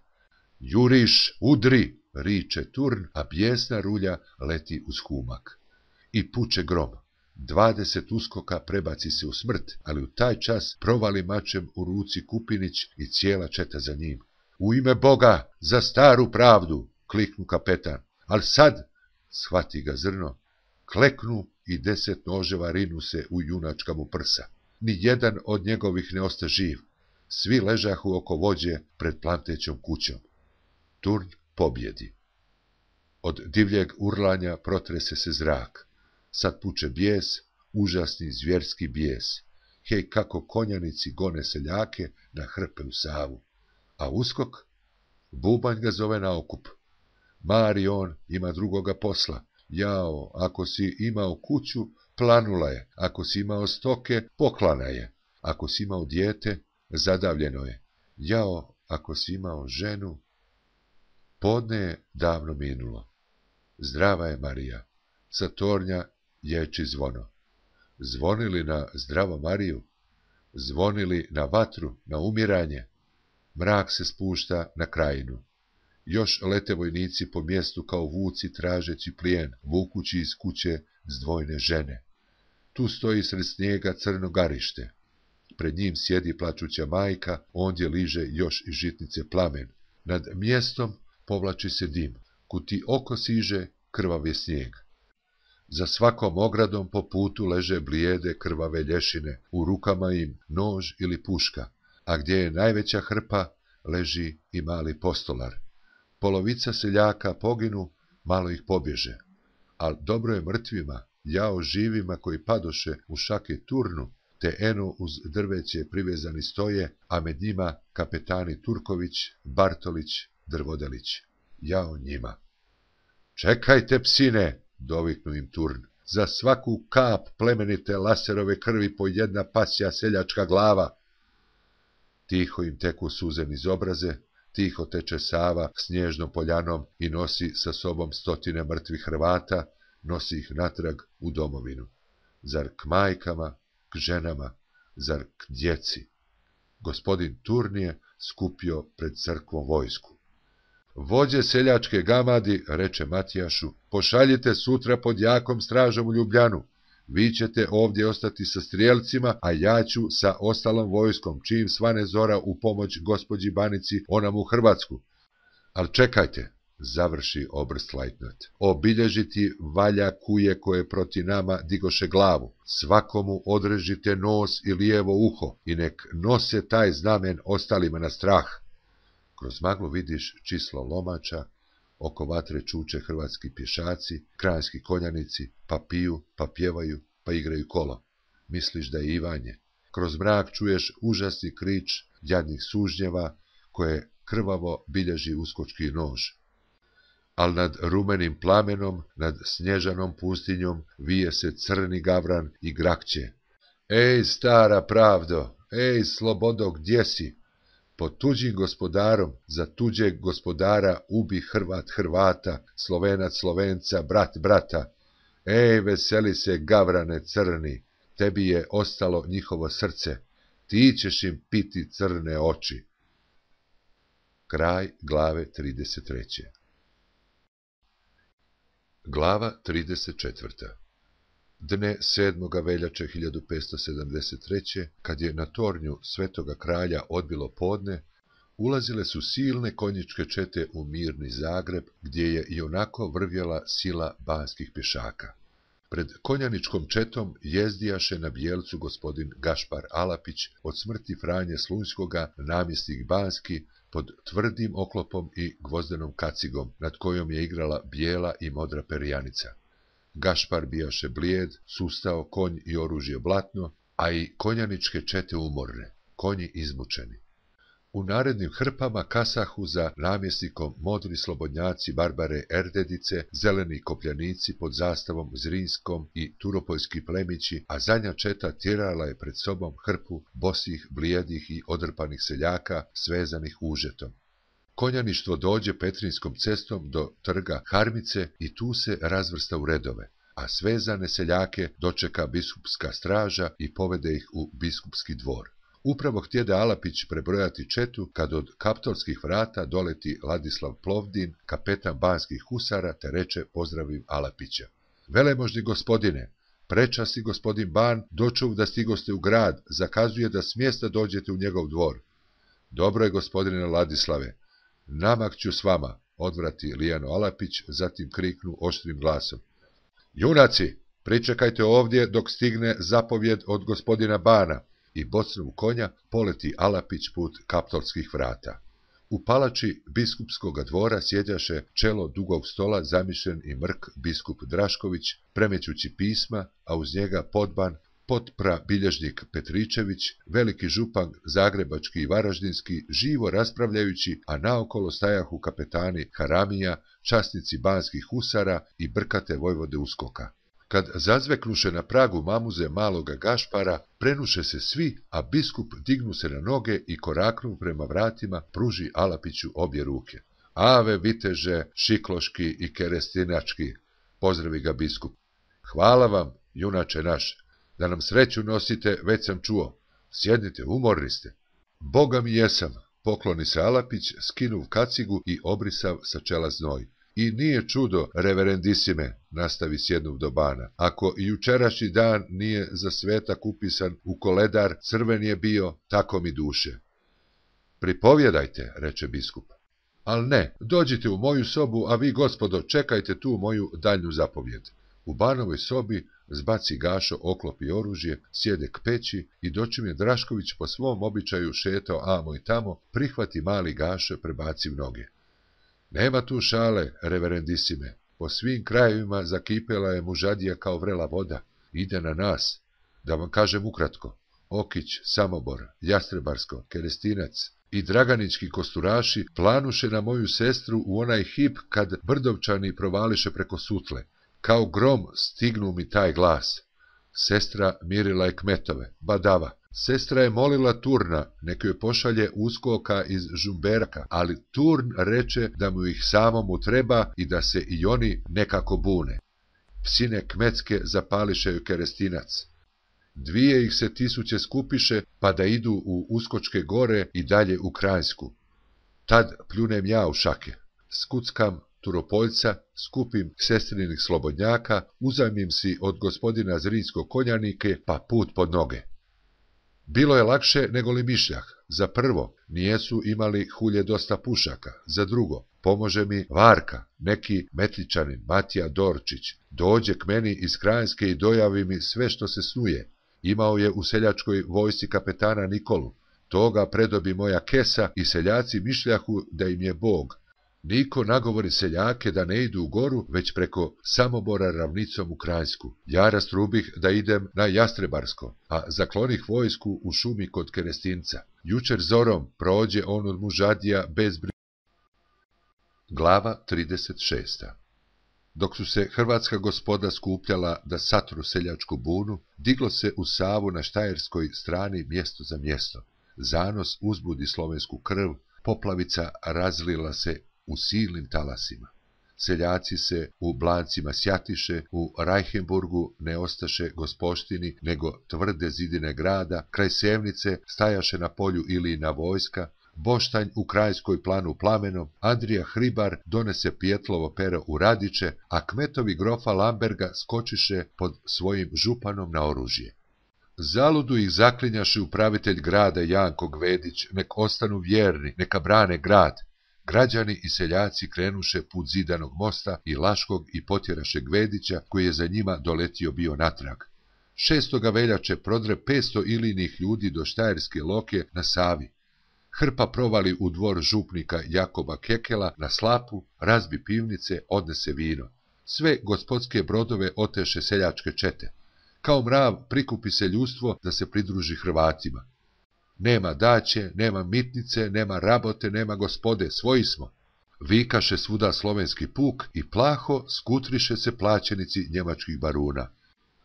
Juriš, udri, riče Turn, a bijesna rulja leti uz humak. I puče grom. 20 uskoka prebaci se u smrt, ali u taj čas provali mačem u ruci Kupinić i cijela četa za njim. U ime Boga, za staru pravdu, kliknu kapetan. Al sad, shvati ga zrno, kleknu i 10 noževa rinu se u junačka mu prsa. Ni jedan od njegovih ne osta živ. Svi ležahu oko vođe pred plantećom kućom. Turn pobjedi. Od divljeg urlanja protrese se zrak. Sad puče bijes, užasni zvjerski bijes. Hej, kako konjanici gone seljake na hrpe u Savu. A uskok? Bubanj ga zove na okup. Mari on ima drugoga posla. Jao, ako si imao kuću, planula je. Ako si imao stoke, poklana je. Ako si imao dijete, zadavljeno je. Jao, ako si imao ženu... Podne je davno minulo. Zdrava je Marija. Sa tornja ječi zvono. Zvonili na zdravo Mariju? Zvonili na vatru, na umiranje? Mrak se spušta na krajinu. Još lete vojnici po mjestu kao vuci tražeći plijen, vukući iz kuće zdvojne žene. Tu stoji sred snijega crno garište. Pred njim sjedi plačuća majka, ondje liže još iz žitnice plamen. Nad mjestom povlači se dim. Kud ti oko siže, krvav je snijeg. Za svakom ogradom po putu leže blijede krvave lješine, u rukama im nož ili puška, a gdje je najveća hrpa, leži i mali postolar. Polovica seljaka poginu, malo ih pobježe, al dobro je mrtvima, jao živima koji padoše u šake turnu, te eno uz drveće privezani stoje, a med njima kapetani Turković, Bartolić, Drvodelić. Jao njima. Čekajte, psine, doviknu im Turn, za svaku kap plemenite laserove krvi po jedna pasja seljačka glava. Tiho im teku suze niz obraze, tiho teče Sava snježnom poljanom i nosi sa sobom stotine mrtvih Hrvata, nosi ih natrag u domovinu. Zar k majkama, k ženama, zar k djeci? Gospodin Turn je skupio pred crkvom vojsku. Vođe seljačke gamadi, reče Matijašu, pošaljite sutra pod jakom stražom u Ljubljanu. Vi ćete ovdje ostati sa strijelcima, a ja ću sa ostalom vojskom, čim svane zora u pomoć gospođi Banici, onam u Hrvatsku. Al čekajte, završi oberstlajtnant, obilježiti valja kuje koje proti nama digoše glavu. Svakomu odrežite nos i lijevo uho i nek nose taj znamen ostalima na strah. Kroz maglu vidiš čislo lomača, oko vatre čuče hrvatski pješaci, kranjski konjanici, pa piju, pa pjevaju, pa igraju kolo. Misliš da je Ivanje. Kroz mrak čuješ užasni krič jadnih sužnjeva, koje krvavo bilježi uskočki nož. Al nad rumenim plamenom, nad snježanom pustinjom, vije se crni gavran i grakće. Ej, stara pravdo, ej, slobodo, gdje si? Pod tuđim gospodarom, za tuđeg gospodara, ubi Hrvat Hrvata, Slovenac Slovenca, brat brata. Ej, veseli se, gavrane crni, tebi je ostalo njihovo srce, ti ćeš im piti crne oči. Kraj glave 33. Glava 34. Dne 7. veljače 1573. kad je na tornju Svetoga kralja odbilo podne, ulazile su silne konjičke čete u mirni Zagreb, gdje je ionako vrvjela sila banskih pješaka. Pred konjaničkom četom jezdijaše na bijelcu gospodin Gašpar Alapić, od smrti Franje Slunjskoga namjesnik banski, pod tvrdim oklopom i gvozdenom kacigom, nad kojom je igrala bijela i modra perjanica. Gašpar bijaše blijed, sustao konj i oružje blatno, a i konjaničke čete umorne, konji izmučeni. U narednim hrpama kasahu za namjesnikom modri slobodnjaci Barbare Erdedice, zeleni kopljanici pod zastavom Zrinskom i turopoljski plemići, a zadnja četa tjerala je pred sobom hrpu bosih, blijedih i odrpanih seljaka, svezanih užetom. Konjaništvo dođe Petrinskom cestom do trga Harmice i tu se razvrsta u redove, a svezane seljake dočeka biskupska straža i povede ih u biskupski dvor. Upravo htjede Alapić prebrojati četu, kad od kaptolskih vrata doleti Ladislav Plovdin, kapetan banskih husara, te reče pozdravim Alapića. Velemožni gospodine, prečasti gospodin Ban dočuv da stigoste u grad, zakazuje da smjesta dođete u njegov dvor. Dobro je, gospodine Ladislave, namak ću s vama, odvrati Lijano Alapić, zatim kriknu oštrim glasom. Junaci, pričekajte ovdje dok stigne zapovjed od gospodina Bana, i bocnom konja poleti Alapić put kaptolskih vrata. U palači biskupskog dvora sjedjaše čelo dugog stola zamišljen i mrk biskup Drašković, premećući pisma, a uz njega podban, potpra bilježnik Petričević, veliki župan zagrebački i varaždinski, živo raspravljajući, a naokolo stajahu kapetani Haramija, časnici banskih husara i brkate vojvode uskoka. Kad zazveknuše na pragu mamuze maloga Gašpara, prenuše se svi, a biskup dignu se na noge i koraknu prema vratima, pruži Alapiću obje ruke. Ave viteže, šikloški i kerestinački, pozdravi ga biskup. Hvala vam, junače naš, da nam sreću nosite, već sam čuo. Sjednite, umorni ste. Boga mi jesam, pokloni se Alapić, skinuv kacigu i obrisav sa čela znoj. I nije čudo, reverendisime, nastavi sjednuv do bana. Ako i jučerašnji dan nije za svetak upisan u koledar, crven je bio, tako mi duše. Pripovjedajte, reče biskup. Al ne, dođite u moju sobu, a vi, gospodo, čekajte tu moju daljnju zapovjed. U banovoj sobi zbaci Gašo oklop i oružje, sjede k peći i dočim je Drašković po svom običaju šetao amo i tamo, prihvati mali Gašo, prebaci noge. Nema tu šale, reverendisime. Po svim krajevima zakipela je mužadija kao vrela voda. Ide na nas. Da vam kažem ukratko. Okić, Samobor, Jastrebarsko, Kerestinac i Draganički kosturaši planuše na moju sestru u onaj hip kad Brdovčani provališe preko Sutle. Kao grom stignu mi taj glas. Sestra mirila je kmetove, badava. Sestra je molila Turna, nek joj pošalje uskoka iz Žumberaka, ali Turn reče da mu ih samomu treba i da se i oni nekako bune. Psine kmetske zapališe joj Kerestinac. 2000 skupiše, pa da idu u Uskočke gore i dalje u Kranjsku. Tad pljunem ja u šake. Skuckam Turopoljca, skupim sestrinih slobodnjaka, uzajmim si od gospodina Zrinskog konjanike, pa put pod noge. Bilo je lakše nego li mišljah. Za prvo, nijesu imali hulje dosta pušaka. Za drugo, pomože mi Varka, neki metličanin, Matija Dorčić. Dođe k meni iz Kranjske i dojavi mi sve što se snuje. Imao je u seljačkoj vojsci kapetana Nikolu. Toga predobi moja kesa i seljaci mišljahu da im je Bog. Niko nagovori seljake da ne idu u goru, već preko Samobora ravnicom u Kranjsku. Ja rastrubih da idem na Jastrebarsko, a zaklonih vojsku u šumi kod Kerestinca. Jučer zorom prođe on od mužadija bez briga. Glava 36. Dok su se hrvatska gospoda skupljala da satru seljačku bunu, diglo se u Savu na štajerskoj strani mjesto za mjesto. Zanos uzbudi slovensku krv, poplavica razlila se u silnim talasima. Seljaci se u Blancima sjatiše, u Rajhenburgu ne ostaše gospoštini, nego tvrde zidine grada, kraj Sevnice stajaše na polju Ilijina vojska, Boštanj u Krajskoj planu plamenom, Andrija Hribar donese Pijetlovo pero u Radiće, a kmetovi grofa Lamberga skočiše pod svojim županom na oružje. Zaludu ih zaklinjaše upravitelj grada Janko Gvedić, nek ostanu vjerni, neka brane grad. Građani i seljaci krenuše put zidanog mosta i Laškog i potjeraše Gvedića, koji je za njima doletio bio natrag. 6. veljače prodre 500 ilinih ljudi do Štajerske Loke na Savi. Hrpa provali u dvor župnika Jakoba Kekela na Slapu, razbi pivnice, odnese vino. Sve gospodske brodove oteše seljačke čete. Kao mrav prikupi se ljudstvo da se pridruži Hrvatima. Nema daće, nema mitnice, nema rabote, nema gospode, svoji smo. Vikaše svuda slovenski puk i plaho skutriše se plaćenici njemačkih baruna.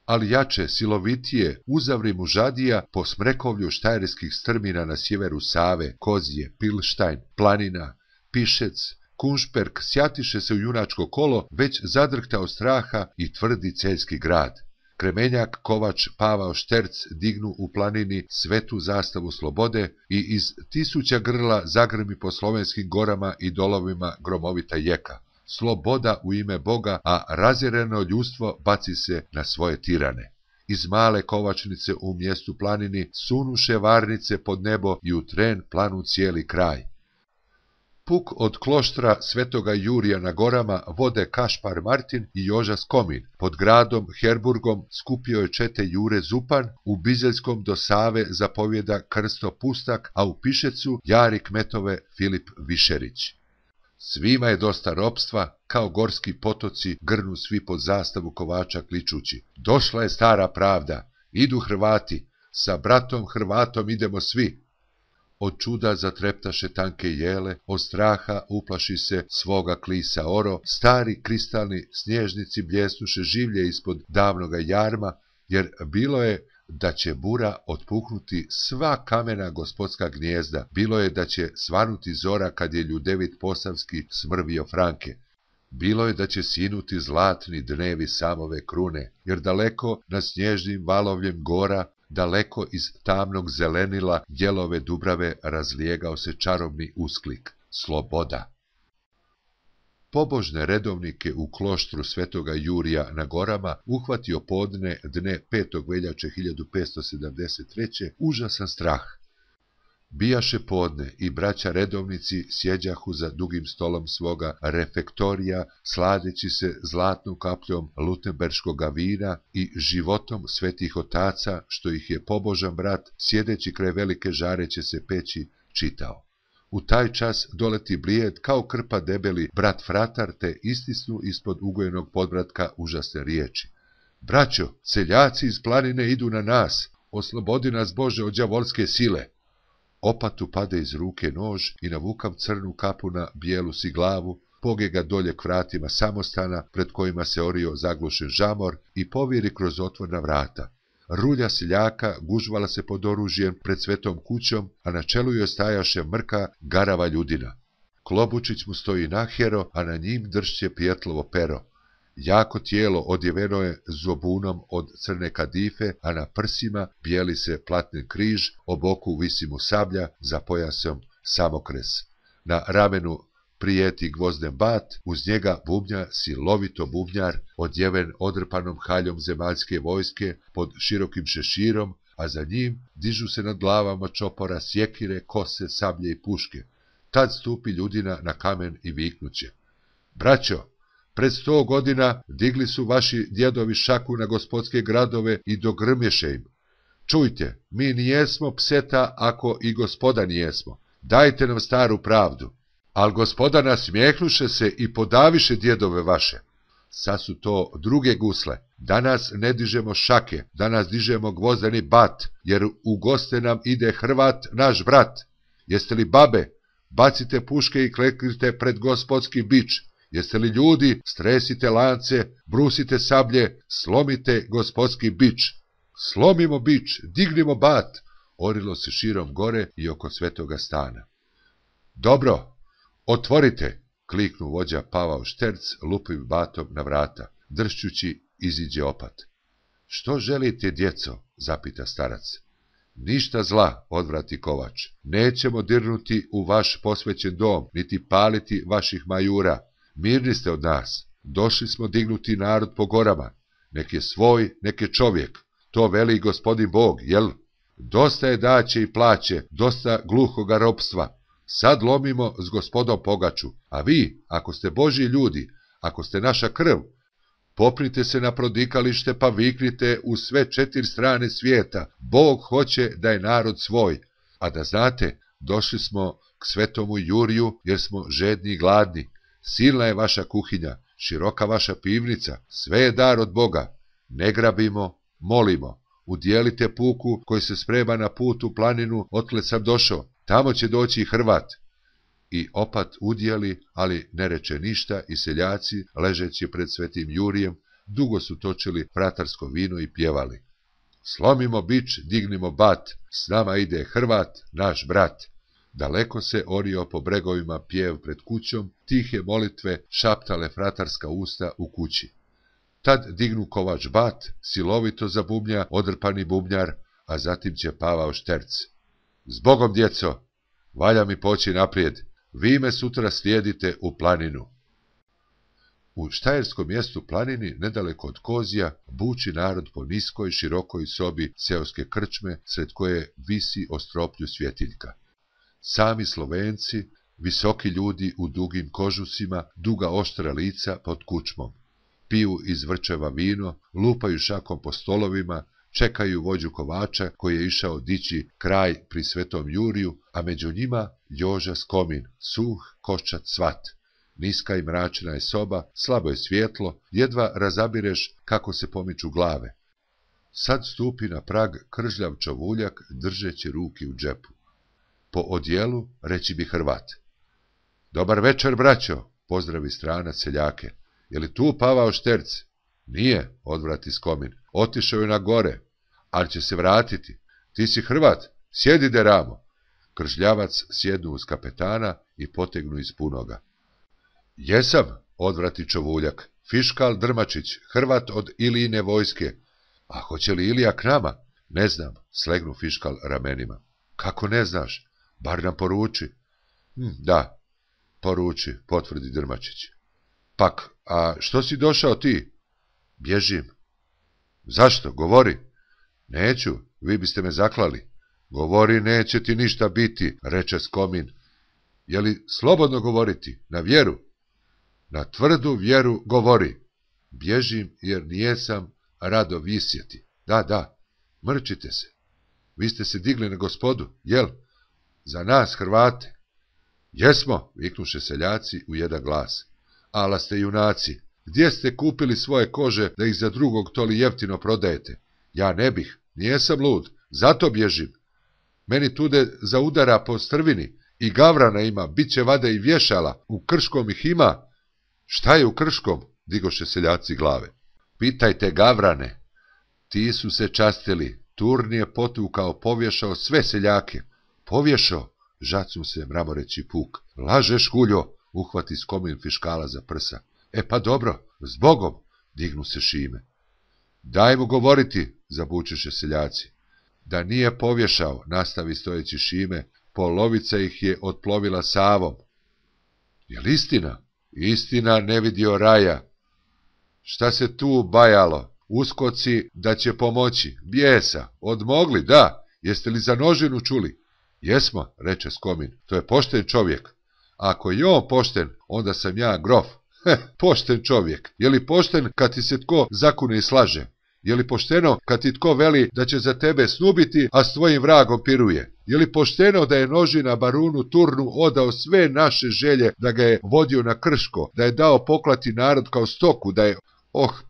Ali jače, silovitije, uzavri mužadija po smrekovlju štajerskih strmina na sjeveru Save, Kozije, Pilštajn, Planina, Pišec, Kunšperk sjatiše se u junačko kolo, već zadrhtao straha i tvrdi celjski grad. Kremenjak, Kovač, Pavao, Šterc dignu u planini svetu zastavu slobode i iz 1000 grla zagrmi po slovenskim gorama i dolovima gromovita jeka. Sloboda u ime Boga, a razjereno ljudstvo baci se na svoje tirane. Iz male kovačnice u mjestu planini sunuše varnice pod nebo i u tren planu cijeli kraj. Puk od kloštra Svetoga Jurija na gorama vode Kašpar Martin i Joža Skomin. Pod gradom Herburgom skupio je čete Jure Zupan, u Bizeljskom do Save zapovjeda Krsto Pustak, a u Pišecu jari kmetove Filip Višerić. Svima je dosta ropstva, kao gorski potoci grnu svi pod zastavu kovača kličući. Došla je stara pravda, idu Hrvati, sa bratom Hrvatom idemo svi. Od čuda zatreptaše tanke jele, od straha uplaši se svoga klisa oro, stari kristalni snježnici bljesnuše življe ispod davnoga jarma, jer bilo je da će bura otpuknuti sva kamena gospodska gnijezda, bilo je da će svanuti zora kad je Ljudevit Posavski smrvio Franke. Bilo je da će sinuti zlatni dnevi samove krune, jer daleko na snježnim valovljem gora daleko iz tamnog zelenila Jelove Dubrave razlijegao se čarobni usklik: sloboda! Pobožne redovnike u kloštru Svetoga Jurija na gorama uhvatio podne dne 5. veljače 1573. užasan strah. Bijaše podne i braća redovnici sjeđahu za dugim stolom svoga refektorija, sladeći se zlatnom kapljom lutemberškoga vina i životom svetih otaca, što ih je pobožan brat, sjedeći kraj velike žareće se peći, čitao. U taj čas doleti blijed kao krpa debeli brat fratar, te istisnu ispod ugojenog podbratka užasne riječi: braćo, seljaci iz planine idu na nas, oslobodi nas Bože od đavolske sile. Opatu pade iz ruke nož i navukav crnu kapu na bijelu si glavu, poge ga dolje k vratima samostana, pred kojima se orio zaglušen žamor, i poviri kroz otvorna vrata. Rulja seljaka gužvala se pod oružjem pred svetom kućom, a na čelu joj stajaše mrka, garava ljudina. Klobučić mu stoji nahjero, a na njim dršće Pijetlovo pero. Jako tijelo odjeveno je zobunom od crne kadife, a na prsima bijeli se platnen križ, o boku visi mu sablja, za pojasom samokres. Na ramenu prijeti gvozden bat, uz njega bubnja silovito bubnjar, odjeven odrpanom haljom zemaljske vojske pod širokim šeširom, a za njim dižu se nad glavama čopora sjekire, kose, sablje i puške. Tad stupi ljudina na kamen i viknuće: braćo, pred 100 godina digli su vaši djedovi šaku na gospodske gradove i dogrmješe im. Čujte, mi nijesmo pseta ako i gospoda nijesmo. Dajte nam staru pravdu. Al gospoda nasmijehnuše se i podaviše djedove vaše. Sad su to druge gusle. Danas ne dižemo šake, danas dižemo gvozdeni bat, jer u goste nam ide Hrvat, naš brat. Jeste li babe? Bacite puške i kleknite pred gospodski bič. Jeste li ljudi? Stresite lance, brusite sablje, slomite gospodski bič. Slomimo bič, dignimo bat, orilo se širom gore i oko svetoga stana. Dobro, otvorite, kliknu vođa Pavao Šterc lupim batom na vrata. Dršćući iziđe opat. Što želite, djeco? Zapita starac. Ništa zla, odvrati Kovač. Nećemo dirnuti u vaš posvećen dom, niti paliti vaših majura. Mirni ste od nas. Došli smo dignuti narod po gorama. Nek je svoj, nek je čovjek. To veli gospodin Bog, jel? Dosta je daće i plaće, dosta gluhoga ropstva. Sad lomimo s gospodom Pogaču, a vi, ako ste Božji ljudi, ako ste naša krv, popnite se na prodikalište pa viknite u sve 4 strane svijeta: Bog hoće da je narod svoj. A da znate, došli smo k svetomu Juriju jer smo žedni i gladni. Silna je vaša kuhinja, široka vaša pivnica, sve je dar od Boga. Ne grabimo, molimo. Udjelite puku koji se sprema na put u planinu, otle sam došao. Tamo će doći i Hrvat. I opat udjeli, ali ne reče ništa, i seljaci, ležeći pred svetim Jurijem, dugo su točili fratarsko vino i pjevali: slomimo bič, dignimo bat, s nama ide Hrvat, naš brat. Daleko se orio po bregovima pjev pred kućom, tihe molitve šaptale fratarska usta u kući. Tad dignu Kovač bat, silovito zabubnja odrpani bubnjar, a zatim će Pavao Šterc. Zbogom, djeco, valja mi poći naprijed, vi me sutra slijedite u planinu. U štajerskom mjestu Planini, nedaleko od Kozija, buči narod po niskoj, širokoj sobi seoske krčme, sred koje visi o stroplju svjetiljka. Sami Slovenci, visoki ljudi u dugim kožusima, duga oštra lica pod kučmom. Piju iz vrčeva vino, lupaju šakom po stolovima, čekaju vođu Kovača koji je išao dići kraj pri svetom Juriju, a među njima Joža Skomin, suh koščat svat. Niska i mračna je soba, slabo je svjetlo, jedva razabireš kako se pomiču glave. Sad stupi na prag kržljav čovuljak držeći ruki u džepu. Po odjelu reći bi Hrvat. Dobar večer, braćo, pozdravi stranac seljake. Je li tu Pavao Šterc? Nije, odvrati Skomin. Otišao je na gore, ali će se vratiti. Ti si Hrvat, sjedi deramo. Kržljavac sjednu uz kapetana i potegnu iz punoga. Jesam, odvrati čovuljak. Fiškal Drmačić, Hrvat od Ilijine vojske. A hoće li Ilija k nama? Ne znam, slegnu fiškal ramenima. Kako ne znaš? Bar nam poruči. Da, poruči, potvrdi Drmačić. Pak, a što si došao ti? Bježim. Zašto? Govori. Neću, vi biste me zaklali. Govori, neće ti ništa biti, reče Skomin. Je li slobodno govoriti, na vjeru? Na tvrdu vjeru govori. Bježim jer nijesam rado visjeti. Da, mrčite se. Vi ste se digli na gospodu, jel? Za nas, Hrvate. Jesmo, viknuše seljaci u jedan glas. Ala ste junaci, gdje ste kupili svoje kože da ih za drugog toli jeftino prodajete? Ja ne bih, nijesam lud, zato bježim. Meni tude za udara po strvini i gavrana ima, bit će vada i vješala, u Krškom ih ima. Šta je u Krškom? Digoše seljaci glave. Pitajte gavrane. Ti su se častili, Turn je potukao, povješao sve seljake. Povješao, žacnu se mramoreći puk. Lažeš, huljo, uhvati Skomin fiškala za prsa. Pa dobro, zbogom, dignu se Šime. Daj mu govoriti, zabučeše seljaci. Da nije povješao, nastavi stojeći Šime, polovica ih je otplovila Savom. Jel istina? Istina, ne vidio raja. Šta se tu bajalo? Uskoci da će pomoći. Bijesa, odmogli, da. Jeste li za Nožinu čuli? Jesmo, reče Skomin, to je pošten čovjek. Ako je on pošten, onda sam ja grof. Pošten čovjek. Je li pošten kad ti se tko zakune i slaže? Je li pošteno kad ti tko veli da će za tebe snubiti, a s tvojim vragom piruje? Je li pošteno da je Nožina barunu Turnu odao sve naše želje, da ga je vodio na Krško, da je dao poklati narod kao stoku, da je...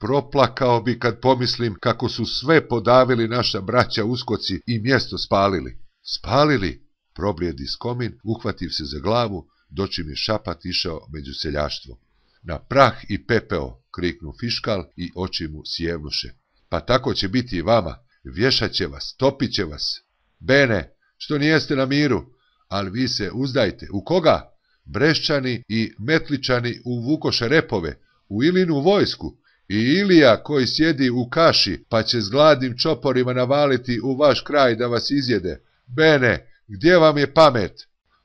proplakao bi kad pomislim kako su sve podavili naša braća uskoci i mjesto spalili. Spalili, problijedi Skomin, uhvativ se za glavu, dočim je šapat išao među seljaštvo. Na prah i pepeo, kriknu fiškal i oči mu sjevnuše. Pa tako će biti i vama, vješat će vas, topit će vas. Bene, što nijeste na miru, ali vi se uzdajte. U koga? Breščani i Metličani uvukoše repove, u Ilinu vojsku, i Ilija koji sjedi u kaši, pa će s gladnim čoporima navaliti u vaš kraj da vas izjede. Bene, gdje vam je pamet?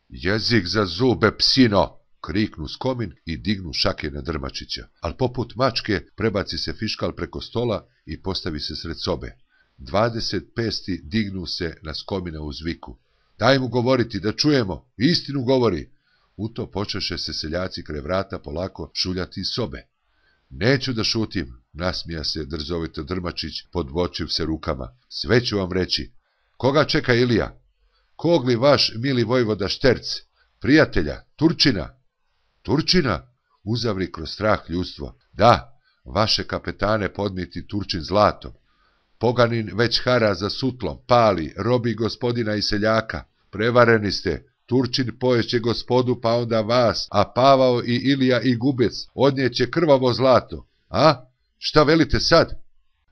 Jezik za zube, psino, kriknu Skomin i dignu šake na Drmačića, ali poput mačke prebaci se fiškal preko stola i postavi se sred sobe. 20 pesti dignu se na Skomina uz viku. Daj mu govoriti, da čujemo, istinu govori. U to počeše se seljaci kraj vrata polako šuljati iz sobe. Neću da šutim, nasmija se drzovito Drmačić, podvočiv se rukama. Sve ću vam reći. Koga čeka Ilija? Kog li vaš mili vojvoda Šterc? Prijatelja, Turčina? Turčina? Uzavri kroz strah ljudstvo. Da, vaše kapetane podmiti Turčin zlatom. Poganin već hara za sutlom, pali, robi gospodina i seljaka. Prevareni ste, Turčin poješće gospodu pa onda vas, a Pavao i Ilija i Gubec odnijeće krvavo zlato. A? Šta velite sad?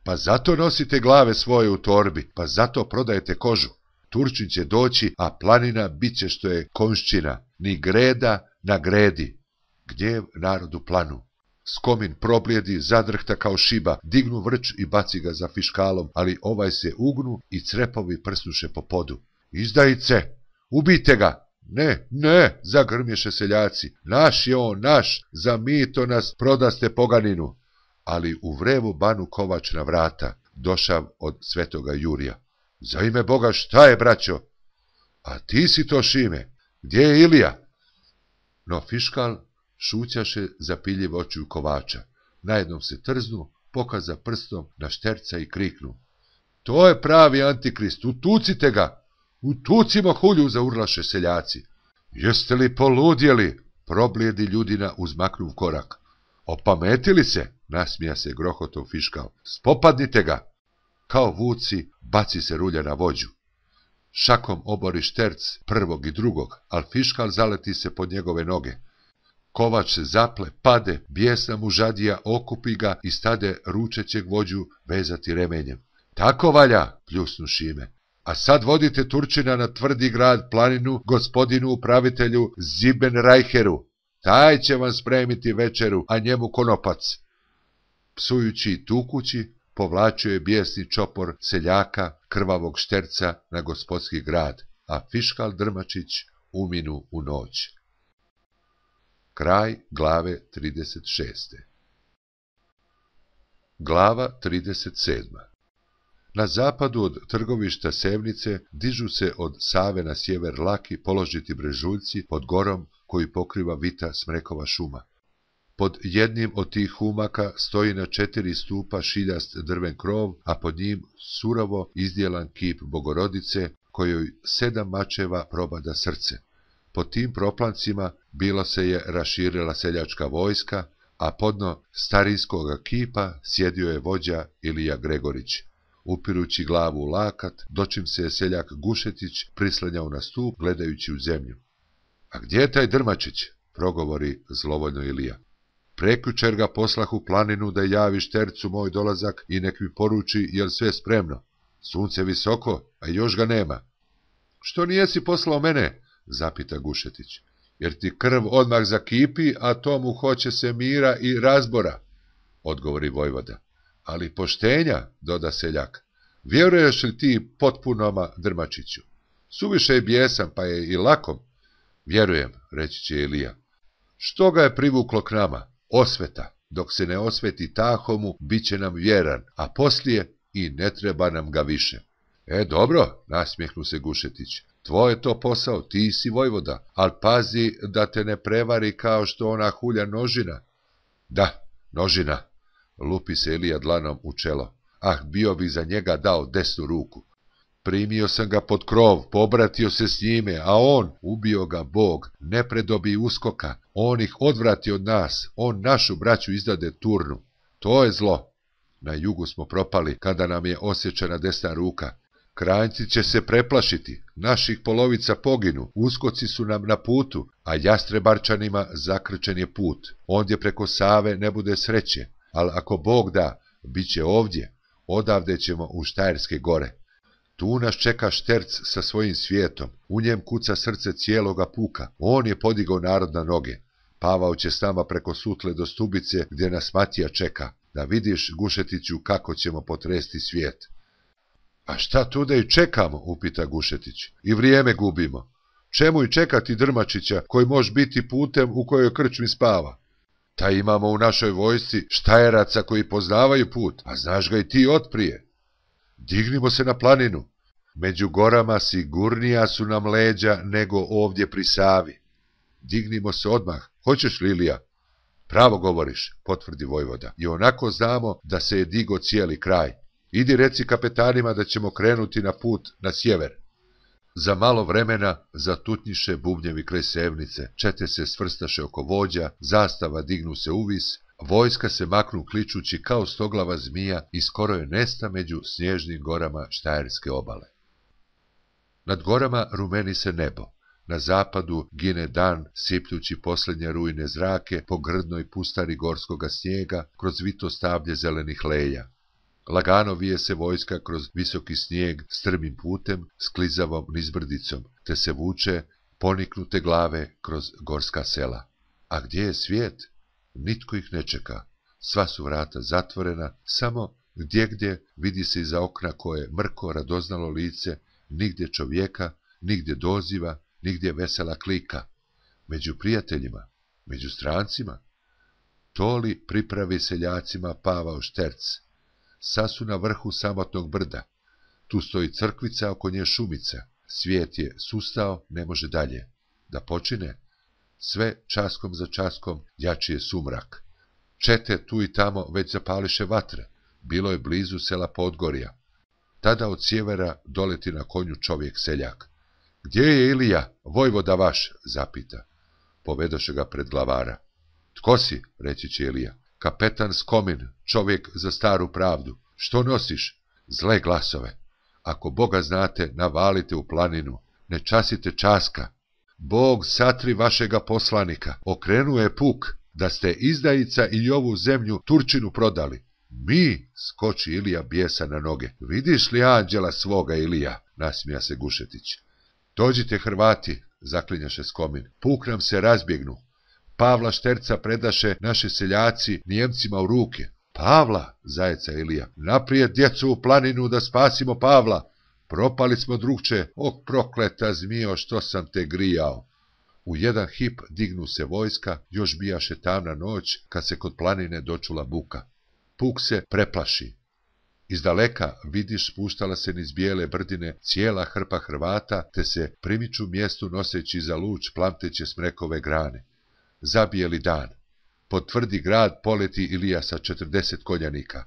Pa zato nosite glave svoje u torbi, pa zato prodajete kožu. Turčin će doći, a planina bit će što je konščina, ni greda na gredi. Gdje je narod u planu? Skomin problijedi, zadrhta kao šiba, dignu vrč i baci ga za fiškalom, ali ovaj se ugnu i crepovi prsnuše po podu. Izdajice! Ubijte ga! Ne, zagrmješe seljaci. Naš je on, naš, za mito nas prodaste poganinu. Ali u vrevu banu kovač na vrata, došav od svetoga Jurija. Za ime Boga, šta je, braćo? A ti si to, Šime. Gdje je Ilija? No fiškal šućaše zapiljiv očiju kovača. Najednom se trznu, pokaza prstom na Šterca i kriknu. To je pravi antikrist, utucite ga! Utucimo hulju, zaurlaše seljaci. Jeste li poludjeli? Problijedi Ljudina uzmaknuv korak. Opametili se? Nasmija se grohotov fiškal. Spopadnite ga! Kao vuci baci se rulja na vođu. Šakom obori Šterc prvog i drugog, al fiškal zaleti se pod njegove noge. Kovač se zaple, pade, bijesna mu žadija okupi ga i stade ručećeg vođu vezati remenjem. Tako valja, pljusnu Šime. A sad vodite Turčina na tvrdi grad planinu gospodinu upravitelju Zibenrajheru. Taj će vam spremiti večeru, a njemu konopac. Psujući i tukući, povlačio je bijesni čopor seljaka, krvavog Šterca na gospodski grad, a fiškal Drmačić uminu u noć. Kraj glave 36. Glava 37. Na zapadu od trgovišta Sevnice dižu se od Save na sjever laki položiti brežuljci pod gorom koji pokriva vita smrekova šuma. Pod jednim od tih humaka stoji na 4 stupa šiljast drven krov, a pod njim surovo izdjelan kip Bogorodice, kojoj 7 mačeva probada srce. Pod tim proplancima bilo se je raširila seljačka vojska, a podno starinskoga kipa sjedio je vođa Ilija Gregorić, upirući glavu u lakat, dočim se je seljak Gušetić prislanjao na stup gledajući u zemlju. A gdje je taj Drmačić? Progovori zlovoljno Ilija. Prekjučer ga poslah u planinu da javi Štercu moj dolazak i nek mi poruči jel sve spremno. Sunce visoko, a još ga nema. Što nijesi poslao mene? Zapita Gušetić. Jer ti krv odmah zakipi, a tomu hoće se mira i razbora, odgovori vojvoda. Ali poštenja, doda seljak. Vjeruješ li ti potpunoma Drmačiću? Suviše je bijesan, pa je i lakom. Vjerujem, reći će Ilija. Što ga je privuklo k nama? Osveta. Dok se ne osveti Tahomu, bit će nam vjeran, a poslije i ne treba nam ga više. Dobro, nasmjehnu se Gušetić. Tvoj je to posao, ti si vojvoda, ali pazi da te ne prevari kao što ona hulja Nožina. Da, Nožina, lupi se Ilija dlanom u čelo. Ah, bio bi za njega dao desnu ruku. Primio sam ga pod krov, pobratio se s njime, a on, ubio ga Bog, ne predobi uskoka, on ih odvrati od nas, on našu braću izdade Turnu. To je zlo. Na jugu smo propali, kada nam je osječena desna ruka. Kranjci će se preplašiti, naših polovica poginu, uskoci su nam na putu, a Jastrebarčanima zakrčen je put. Ondje preko Save ne bude sreće, ali ako Bog da, bit će ovdje, odavde ćemo u Štajerske gore. Tu nas čeka Šterc sa svojim svijetom, u njem kuca srce cijeloga puka, on je podigao narod na noge. Pavao će s nama preko Sutle do Stubice, gdje nas Matija čeka, da vidiš, Gušetiću, kako ćemo potresti svijet. A šta tu da i čekamo, upita Gušetić, i vrijeme gubimo. Čemu i čekati Drmačića, koji može biti putem u kojoj krčmi spava? Ta imamo u našoj vojsci Štajeraca koji poznavaju put, a znaš ga i ti otprije. Dignimo se na planinu. Među gorama sigurnija su nam leđa nego ovdje pri Savi. Dignimo se odmah, hoćeš li, Ilija? Pravo govoriš, potvrdi vojvoda, i onako znamo da se je digo cijeli kraj. Idi reci kapetanima da ćemo krenuti na put na sjever. Za malo vremena zatutnjiše bubnjevi kraj Sevnice, čete se svrstaše oko vođa, zastava dignu se uvis, vojska se maknu kličući kao stoglava zmija i skoro je nesta među snježnim gorama Štajerske obale. Nad gorama rumeni se nebo, na zapadu gine dan sipljući posljednje rujne zrake po grdnoj pustari gorskoga snijega kroz vito stablje zelenih leja. Lagano vije se vojska kroz visoki snijeg strmim putem s klizavom nizbrdicom, te se vuče poniknute glave kroz gorska sela. A gdje je svijet? Nitko ih ne čeka. Sva su vrata zatvorena, samo gdje vidi se iza okna koje mrko radoznalo lice, nigdje čovjeka, nigdje doziva, nigdje vesela klika. Među prijateljima, među strancima. To li pripravi seljacima Pavao Šterc? Sad su na vrhu samotnog brda. Tu stoji crkvica, oko nje šumica. Svijet je sustao, ne može dalje. Da počine? Sve časkom za časkom jači je sumrak. Čete tu i tamo već zapališe vatre. Bilo je blizu sela Podgorja. Tada od sjevera doleti na konju čovjek seljak. Gdje je Ilija, vojvoda vaš? Zapita. Povedoše ga pred glavara. Tko si? Reći će Ilija. Kapetan Skomin, čovjek za staru pravdu. Što nosiš? Zle glasove. Ako Boga znate, navalite u planinu. Ne časite časka. Bog satri vašega poslanika. Okrenuje puk, da ste izdajica i ovu zemlju Turčinu prodali. Mi, skoči Ilija bijesa na noge. Vidiš li anđela svoga, Ilija? Nasmija se Gušetić. Dođite, Hrvati, zaklinjaše Skomin. Puk nam se razbjegnu. Pavla Šterca predaše naše seljaci Nijemcima u ruke. Pavla, zajeca Ilija, naprijed djecu u planinu da spasimo Pavla. Propali smo, drugče, o prokleta zmijo, što sam te grijao. U jedan hip dignu se vojska, još bijaše tamna noć, kad se kod planine dočula buka. Puk se preplaši. Izdaleka vidiš spuštala se niz bijele brdine cijela hrpa Hrvata, te se primiču mjestu noseći za luč plamteće smrekove grane. Zabijeli dan. Pod tvrdi grad poleti Ilija sa 40 konjanika.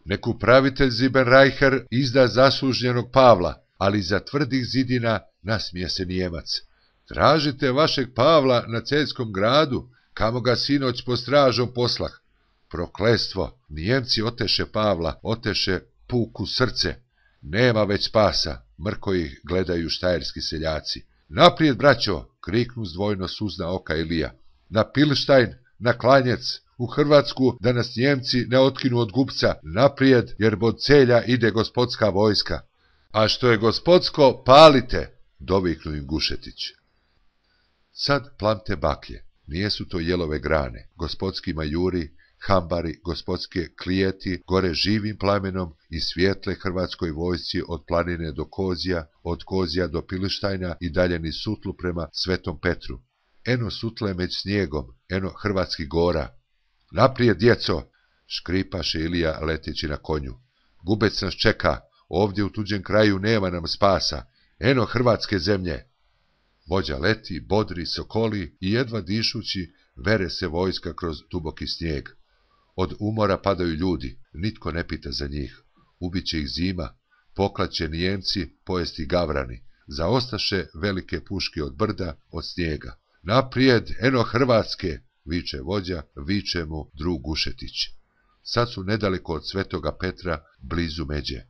Nek upravitelj Zibenreicher izda zaslužnjenog Pavla, ali za tvrdih zidina nasmije se Nijemac. Tražite vašeg Pavla na Celjskom gradu, kamo ga sinoć po stražom poslah. Prokletstvo, Nijemci oteše Pavla, oteše puku srce. Nema već spasa, mrko ih gledaju štajerski seljaci. Naprijed, braćo, kriknu zdvojno suzna oka Ilija. Na Pilštajn, na Klanjec, u Hrvatsku, da nas Njemci ne otkinu od gubca. Naprijed, jer bod Celja ide gospodska vojska. A što je gospodsko, palite, doviknu im Gušetić. Sad plamte baklje, nijesu to jelove grane, gospodski majuri, hambari, gospodske klijeti gore živim plamenom i svijetle hrvatskoj vojsci od planine do Kozija, od Kozija do Pilštajna i dalje niz Sutlu prema Svetom Petru. Eno Sutle među snijegom, eno hrvatskih gora. Naprijed, djeco, škripaše Ilija leteći na konju. Gubec nas čeka, ovdje u tuđem kraju nema nam spasa, eno hrvatske zemlje. Vođa leti, bodri, sokoli i jedva dišući vere se vojska kroz duboki snijeg. Od umora padaju ljudi, nitko ne pita za njih. Ubiće ih zima, poklaće Nijemci, pojesti gavrani. Zaostaše velike puške od brda, od snijega. Naprijed, eno Hrvatske, viče vođa, viče mu drug Gušetić. Sad su nedaleko od Svetoga Petra, blizu međe.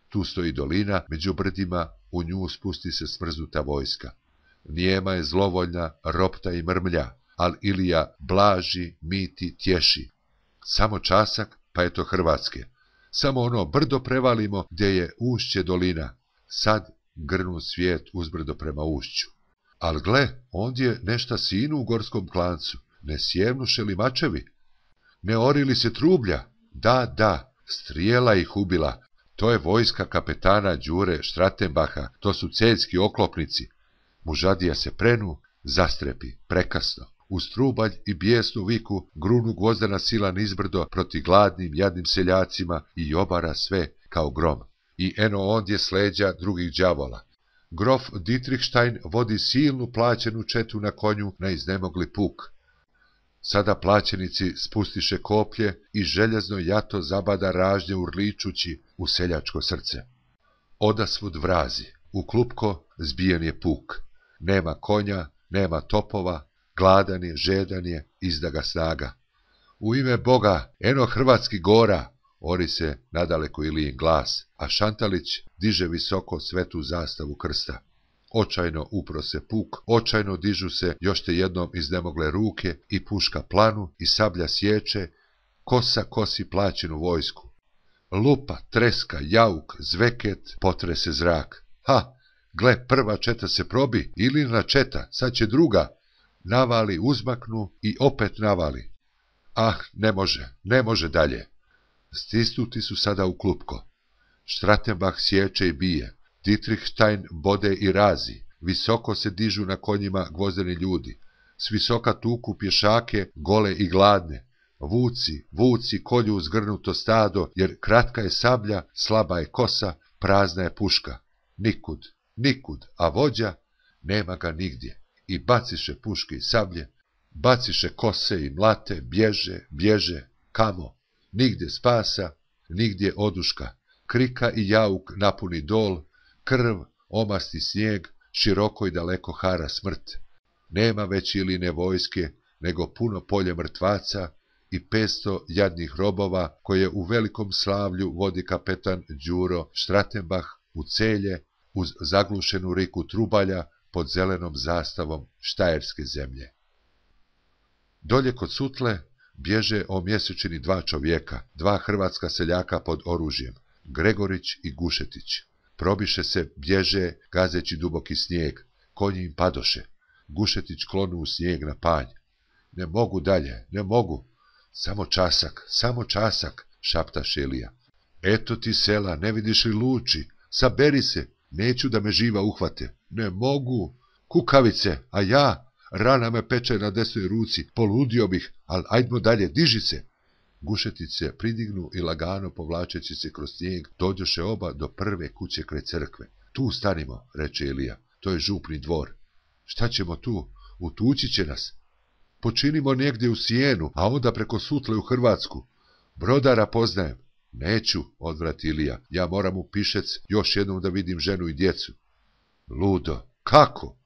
Tu stoji dolina, među brdima, u nju spusti se smrznuta vojska. Nijema je zlovoljna, ropta i mrmlja, al Ilija blaži, miti, tješi. Samo časak, pa je to Hrvatske. Samo ono brdo prevalimo, gdje je ušće dolina. Sad grnu svijet uzbrdo prema ušću. Al gle, ondje nešta sinu u gorskom klancu. Ne sjevnuše li mačevi? Ne ori li se trublja? Da, strijela ih ubila. To je vojska kapetana Đure Štratenbaha, to su celjski oklopnici. Mužadija se prenu, zastrepi, prekasno. Uz trubalj i bijesnu viku grunu gvozdena sila nizbrdo proti gladnim, jadnim seljacima i obara sve kao grom. I eno ondje sleđa drugih đavola. Grof Dietrichstein vodi silnu plaćenu četu na konju na iznemogli puk. Sada plaćenici spustiše koplje i željezno jato zabada ražnje urličući u seljačko srce. Odasvud vrazi, u klupko zbijen je puk. Nema konja, nema topova, gladan je, žedan je, izda ga snaga. U ime Boga, eno hrvatski gora, ori se nadaleko Ilijin glas, a Šantalić diže visoko svetu zastavu krsta. Očajno upro se puk, očajno dižu se još te jednom iznemogle ruke i puška planu i sablja sječe, kosa kosi plaćenu vojsku. Lupa, treska, jauk, zveket, potrese zrak. Ha, gle, prva četa se probi, Ilijina četa, sad će druga. Navali, uzmaknu i opet navali. Ah, ne može dalje. Stisnuti su sada u klupko. Štratenbach sječe i bije. Dietrichstein bode i razi. Visoko se dižu na konjima gvozdeni ljudi. S visoka tuku pješake, gole i gladne. Vuci kolju zgrnuto stado, jer kratka je sablja, slaba je kosa, prazna je puška. Nikud, a vođa nema ga nigdje. I baciše puške i sablje, baciše kose i mlate, bježe, kamo? Nigdje spasa, nigdje oduška. Krika i jauk napuni dol, krv omasti snijeg, široko i daleko hara smrt. Nema već Iline vojske, nego puno polje mrtvaca i 500 jadnih robova, koje u velikom slavlju vodi kapetan Đuro Štratenbach u Celje, uz zaglušenu riku trubalja, pod zelenom zastavom štajerske zemlje. Dolje kod Sutle bježe o mjesečini 2 čovjeka, 2 hrvatska seljaka pod oružjem, Gregorić i Gušetić. Probiše se, bježe, gazeći duboki snijeg, konji im padoše. Gušetić klonu u snijeg na panj. Ne mogu dalje, ne mogu. Samo časak, šapta Šelija. Eto ti sela, ne vidiš li luči? Saberi se, neću da me živa uhvate. Ne mogu. Kukavice, a ja? Rana me peče na desnoj ruci, poludio bih, ali ajdmo dalje, diži se. Gušetice pridignu i lagano povlačeći se kroz snijeg, dođoše oba do prve kuće kraj crkve. Tu stanimo, reče Ilija, to je župni dvor. Šta ćemo tu? Utući će nas. Počinimo negdje u Sijenu, a onda preko Sutle u Hrvatsku. Brodara poznajem. Neću, odvrati Ilija, ja moram u Pišec još jednom da vidim ženu i djecu. Ludo, kako?